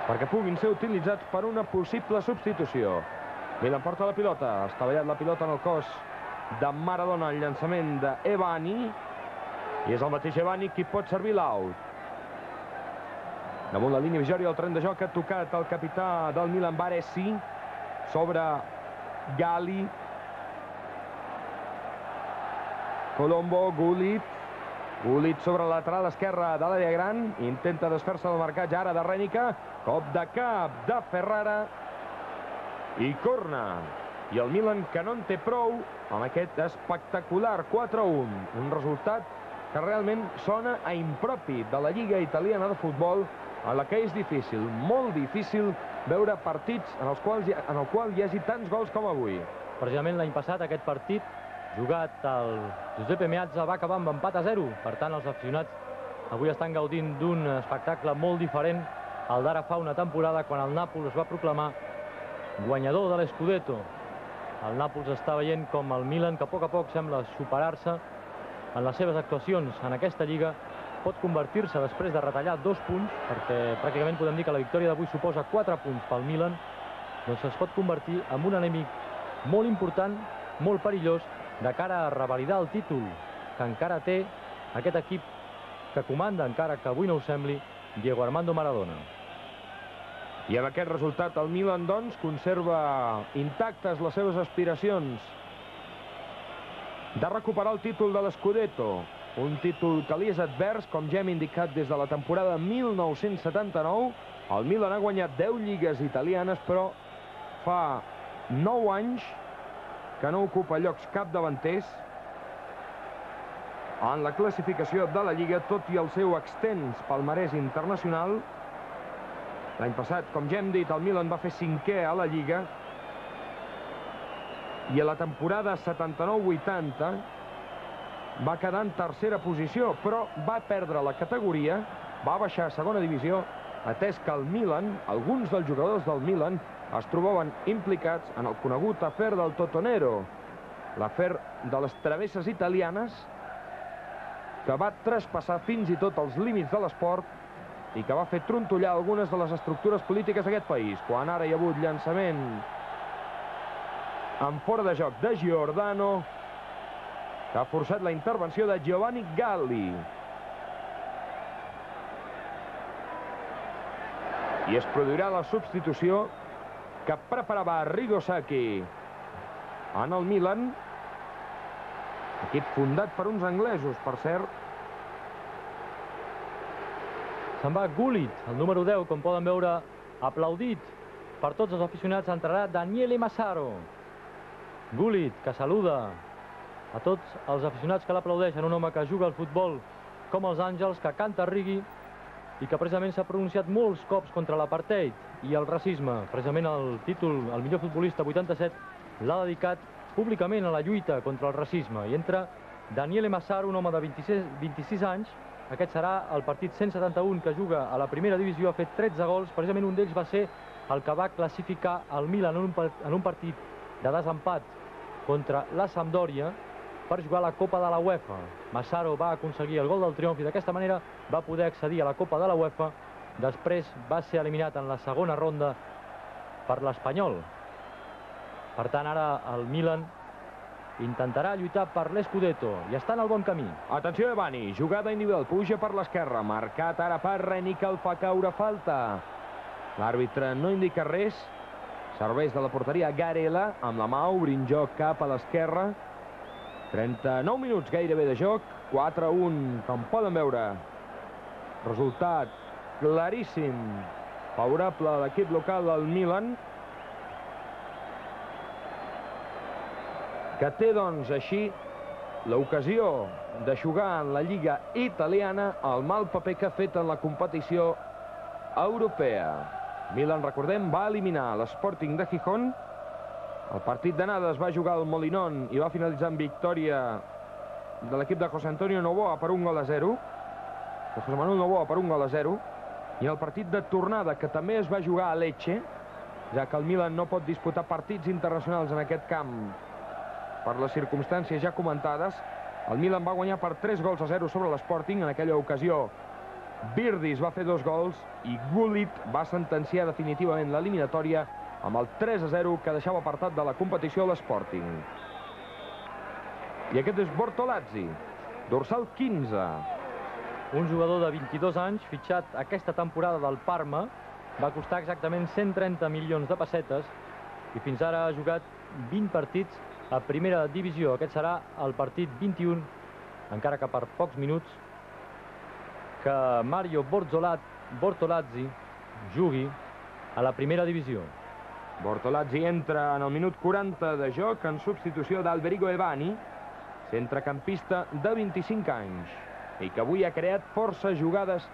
perquè puguin ser utilitzats per una possible substitució. Milan porta la pilota, ha estavellat la pilota en el cos de Maradona, el llançament d'Evani, i és el mateix Evani qui pot servir l'out. Damunt la línia divisòria del tren de joc ha tocat el capità del Milan, Baresi, sobre Gali, Colombo, Gullit sobre la lateral esquerra de l'àrea gran, intenta desfer-se del marcatge ara de Rènica, cop de cap de Ferrara i corna. I el Milan, que no en té prou amb aquest espectacular 4-1, un resultat que realment sona a impropi de la Lliga Italiana de Futbol, en la que és difícil, molt difícil, veure partits en el qual hi hagi tants gols com avui. Precisament l'any passat aquest partit, jugat al Giuseppe Meazza, va acabar amb empat a 0. Per tant, els aficionats avui estan gaudint d'un espectacle molt diferent al d'ara fa una temporada, quan el Nàpols es va proclamar guanyador de l'Scudetto. El Nàpols està veient com el Milan, que a poc sembla superar-se en les seves actuacions en aquesta Lliga, pot convertir-se, després de retallar 2 punts, perquè pràcticament podem dir que la victòria d'avui suposa 4 punts pel Milan, doncs es pot convertir en un enemic molt important, molt perillós, de cara a revalidar el títol que encara té aquest equip que comanda, encara que avui no ho sembli, Diego Armando Maradona. I amb aquest resultat el Milan, doncs, conserva intactes les seves aspiracions de recuperar el títol de l'Scudetto, un títol que li és advers, com ja hem indicat des de la temporada 1979. El Milan ha guanyat 10 lligues italianes, però fa 9 anys que no ocupa llocs capdavanters en la classificació de la Lliga, tot i el seu extens palmarès internacional. L'any passat, com ja hem dit, el Milan va fer 5è a la Lliga, i a la temporada 79-80 va quedar en tercera posició, però va perdre la categoria, va baixar a segona divisió, atès que el Milan, alguns dels jugadors del Milan, es trobaven implicats en el conegut afer del Totonero, l'afer de les travesses italianes, que va traspassar fins i tot els límits de l'esport i que va fer trontollar algunes de les estructures polítiques d'aquest país, quan ara hi ha hagut llançament en fora de joc de Giordano, que ha forçat la intervenció de Giovanni Galli. I es produirà la substitució que preparava Arrigo Sacchi en el Milan, equip fundat per uns anglesos, per cert. Se'n va Gullit, el número 10, com poden veure, aplaudit per tots els aficionats. Entrarà Daniele Massaro. Gullit, que saluda a tots els aficionats que l'aplaudeixen, un home que juga al futbol com els àngels, que canta Righi i que precisament s'ha pronunciat molts cops contra l'apartheid i el racisme. Precisament el títol, el millor futbolista 87, l'ha dedicat públicament a la lluita contra el racisme. I entra Daniele Massaro, un home de 26 anys. Aquest serà el partit 171 que juga a la primera divisió. Ha fet 13 gols, precisament un d'ells va ser el que va classificar el Milan en un partit de desempat contra la Sampdoria per jugar a la Copa de la UEFA. Massaro va aconseguir el gol del triomf i d'aquesta manera va poder accedir a la Copa de la UEFA. Després va ser eliminat en la segona ronda per l'Espanyol. Per tant, ara el Milan intentarà lluitar per l'Scudetto i està en el bon camí. Atenció, Evani, jugada individual, puja per l'esquerra, marcat ara per Rènica, el fa caure, falta. L'àrbitre no indica res, serveix de la porteria Garela, amb la mà obrint joc cap a l'esquerra. 39 minuts gairebé de joc, 4-1, com poden veure. Resultat claríssim, favorable a l'equip local del Milan, que té, doncs, així l'ocasió de jugar en la Lliga italiana el mal paper que ha fet en la competició europea. Milan, recordem, va eliminar l'Sporting de Gijón. El partit d'anada es va jugar al Molinón i va finalitzar amb victòria de l'equip de José Antonio Novoa per 1-0. De José Manuel Novoa per 1-0. I el partit de tornada, que també es va jugar a Lecce, ja que el Milan no pot disputar partits internacionals en aquest camp per les circumstàncies ja comentades, el Milan va guanyar per 3-0 sobre l'Sporting. En aquella ocasió Virdis va fer 2 gols i Gullit va sentenciar definitivament l'eliminatòria amb el 3-0 que deixava apartat de la competició l'Sporting. I aquest és Bortolazzi, dorsal 15. Un jugador de 22 anys, fitxat aquesta temporada del Parma, va costar exactament 130 milions de pessetes i fins ara ha jugat 20 partits a primera divisió. Aquest serà el partit 21, encara que per pocs minuts, que Mario Bortolazzi jugui a la primera divisió. Bortolazzi entra en el minut 40 de joc en substitució d'Alberico Ebani, centrecampista de 25 anys, i que avui ha creat força jugades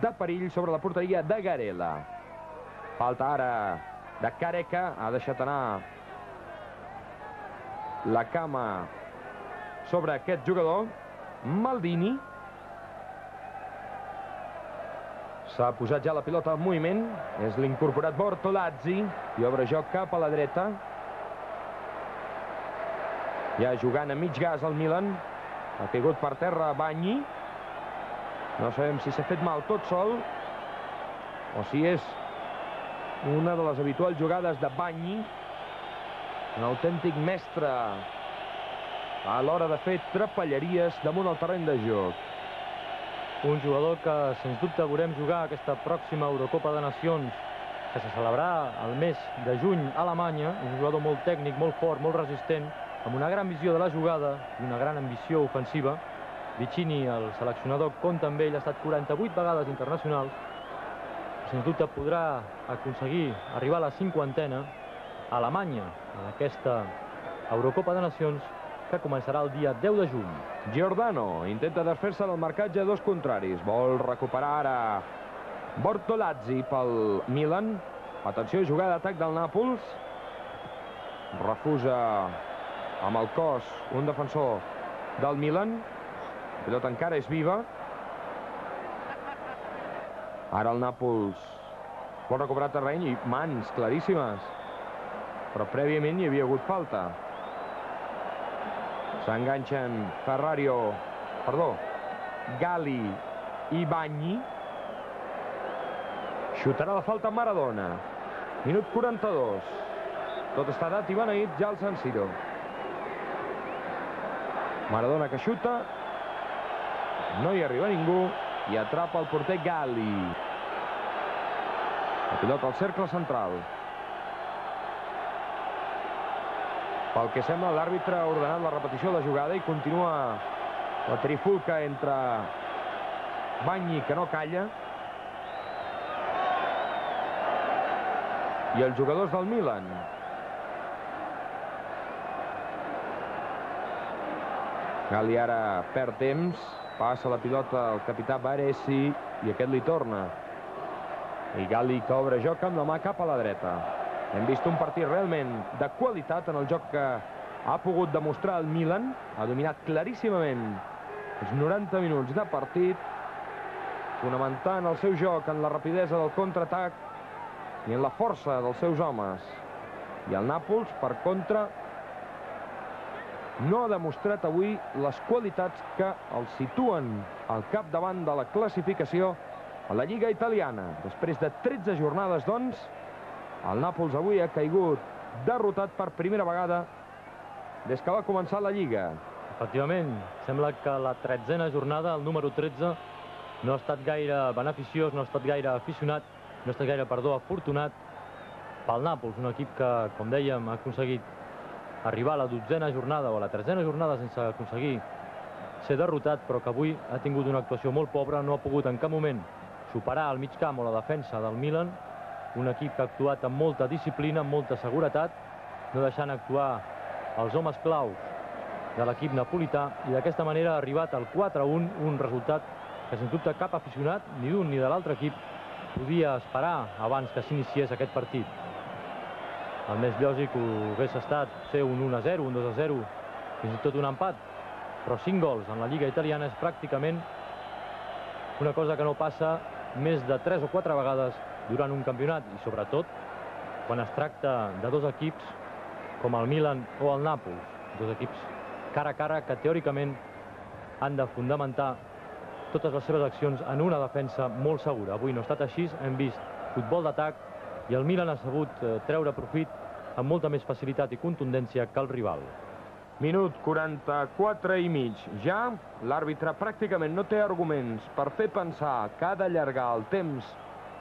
de perill sobre la porteria de Garela. Falta ara de Careca, ha deixat anar la cama sobre aquest jugador. Maldini. S'ha posat ja la pilota en moviment, és l'incorporat Bortolazzi, i obre joc cap a la dreta. Ja jugant a mig gas el Milan, ha caigut per terra Bagni. No sabem si s'ha fet mal tot sol o si és una de les habituals jugades de Bagni, un autèntic mestre a l'hora de fer trapelleries damunt el terreny de joc. Un jugador que, sens dubte, veurem jugar aquesta pròxima Eurocopa de Nacions, que se celebrarà el mes de juny a Alemanya. Un jugador molt tècnic, molt fort, molt resistent, amb una gran visió de la jugada i una gran ambició ofensiva. Vicini, el seleccionador, compta amb ell, ha estat 48 vegades internacional. Sens dubte podrà aconseguir arribar a la 50a a Alemanya, en aquesta Eurocopa de Nacions, que començarà el dia 10 de juny. Giordano intenta desfer-se del marcatge a dos contraris. Vol recuperar ara Bortolazzi pel Milan. Atenció, jugada d'atac del Nàpols. Refusa amb el cos un defensor del Milan. La pilota encara és viva. Ara el Nàpols vol recuperar terreny i mans claríssimes. Però prèviament hi havia hagut falta. S'enganxen Galli i Bagni. Xutarà la falta Maradona. Minut 42. Tot està dat i beneït ja al San Siro. Maradona que xuta. No hi arriba ningú i atrapa el porter Galli. La pilota al cercle central. Pel que sembla, l'àrbitre ha ordenat la repetició de la jugada i continua la trifulca entre Bagni, que no calla, i els jugadors del Milan. Galli ara perd temps, passa la pilota al capità Baresi i aquest li torna. I Galli que obre joc amb la mà cap a la dreta. Hem vist un partit realment de qualitat en el joc que ha pogut demostrar el Milan. Ha dominat claríssimament els 90 minuts de partit, fonamentant el seu joc en la rapidesa del contraatac i en la força dels seus homes. I el Nàpols, per contra, no ha demostrat avui les qualitats que el situen al capdavant de la classificació a la Lliga italiana. Després de 13 jornades, doncs, el Nàpols avui ha caigut derrotat per primera vegada des que va començar la Lliga. Efectivament, sembla que la 13a jornada, el número 13, no ha estat gaire beneficiós, no ha estat gaire aficionat, no ha estat gaire, afortunat pel Nàpols, un equip que, com dèiem, ha aconseguit arribar a la 12a jornada o a la 13a jornada sense aconseguir ser derrotat, però que avui ha tingut una actuació molt pobra, no ha pogut en cap moment superar el mig camp o la defensa del Milan, un equip que ha actuat amb molta disciplina, amb molta seguretat, no deixant actuar els homes claus de l'equip napolità, i d'aquesta manera ha arribat al 4-1, un resultat que sens dubte cap aficionat, ni d'un ni de l'altre equip, podia esperar abans que s'iniciés aquest partit. El més lògic hagués estat ser un 1-0, un 2-0, fins i tot un empat, però 5 gols en la Lliga italiana és pràcticament una cosa que no passa més de 3 o 4 vegades durant un campionat, i sobretot quan es tracta de dos equips com el Milan o el Nàpols, dos equips cara a cara que teòricament han de fundamentar totes les seves accions en una defensa molt segura. Avui no ha estat així, hem vist futbol d'atac i el Milan ha sabut treure profit amb molta més facilitat i contundència que el rival. Minut 44 i mig. Ja l'àrbitre pràcticament no té arguments per fer pensar que ha d'allargar el temps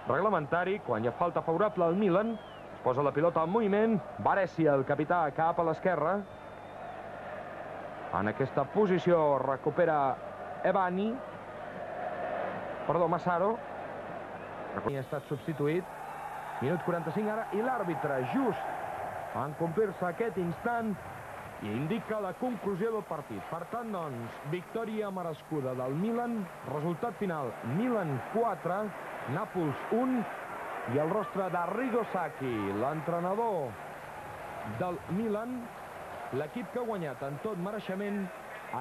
reglamentari. Quan hi ha falta favorable al Milan, es posa la pilota en moviment. Baresi, el capità, cap a l'esquerra. En aquesta posició recupera Massaro. Ha estat substituït. Minut 45 ara i l'àrbitre just en complir-se aquest instant i indica la conclusió del partit. Per tant, doncs, victòria merescuda del Milan. Resultat final, Milan 4, Nàpols 1, i el rostre d'Arrigo Sacchi, l'entrenador del Milan, l'equip que ha guanyat en tot mereixement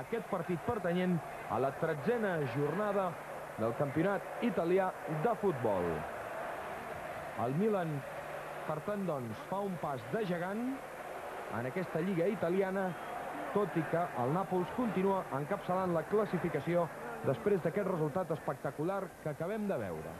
aquest partit pertanyent a la 13a jornada del campionat italià de futbol. El Milan, per tant, doncs, fa un pas de gegant en aquesta lliga italiana, tot i que el Nàpols continua encapçalant la classificació després d'aquest resultat espectacular que acabem de veure.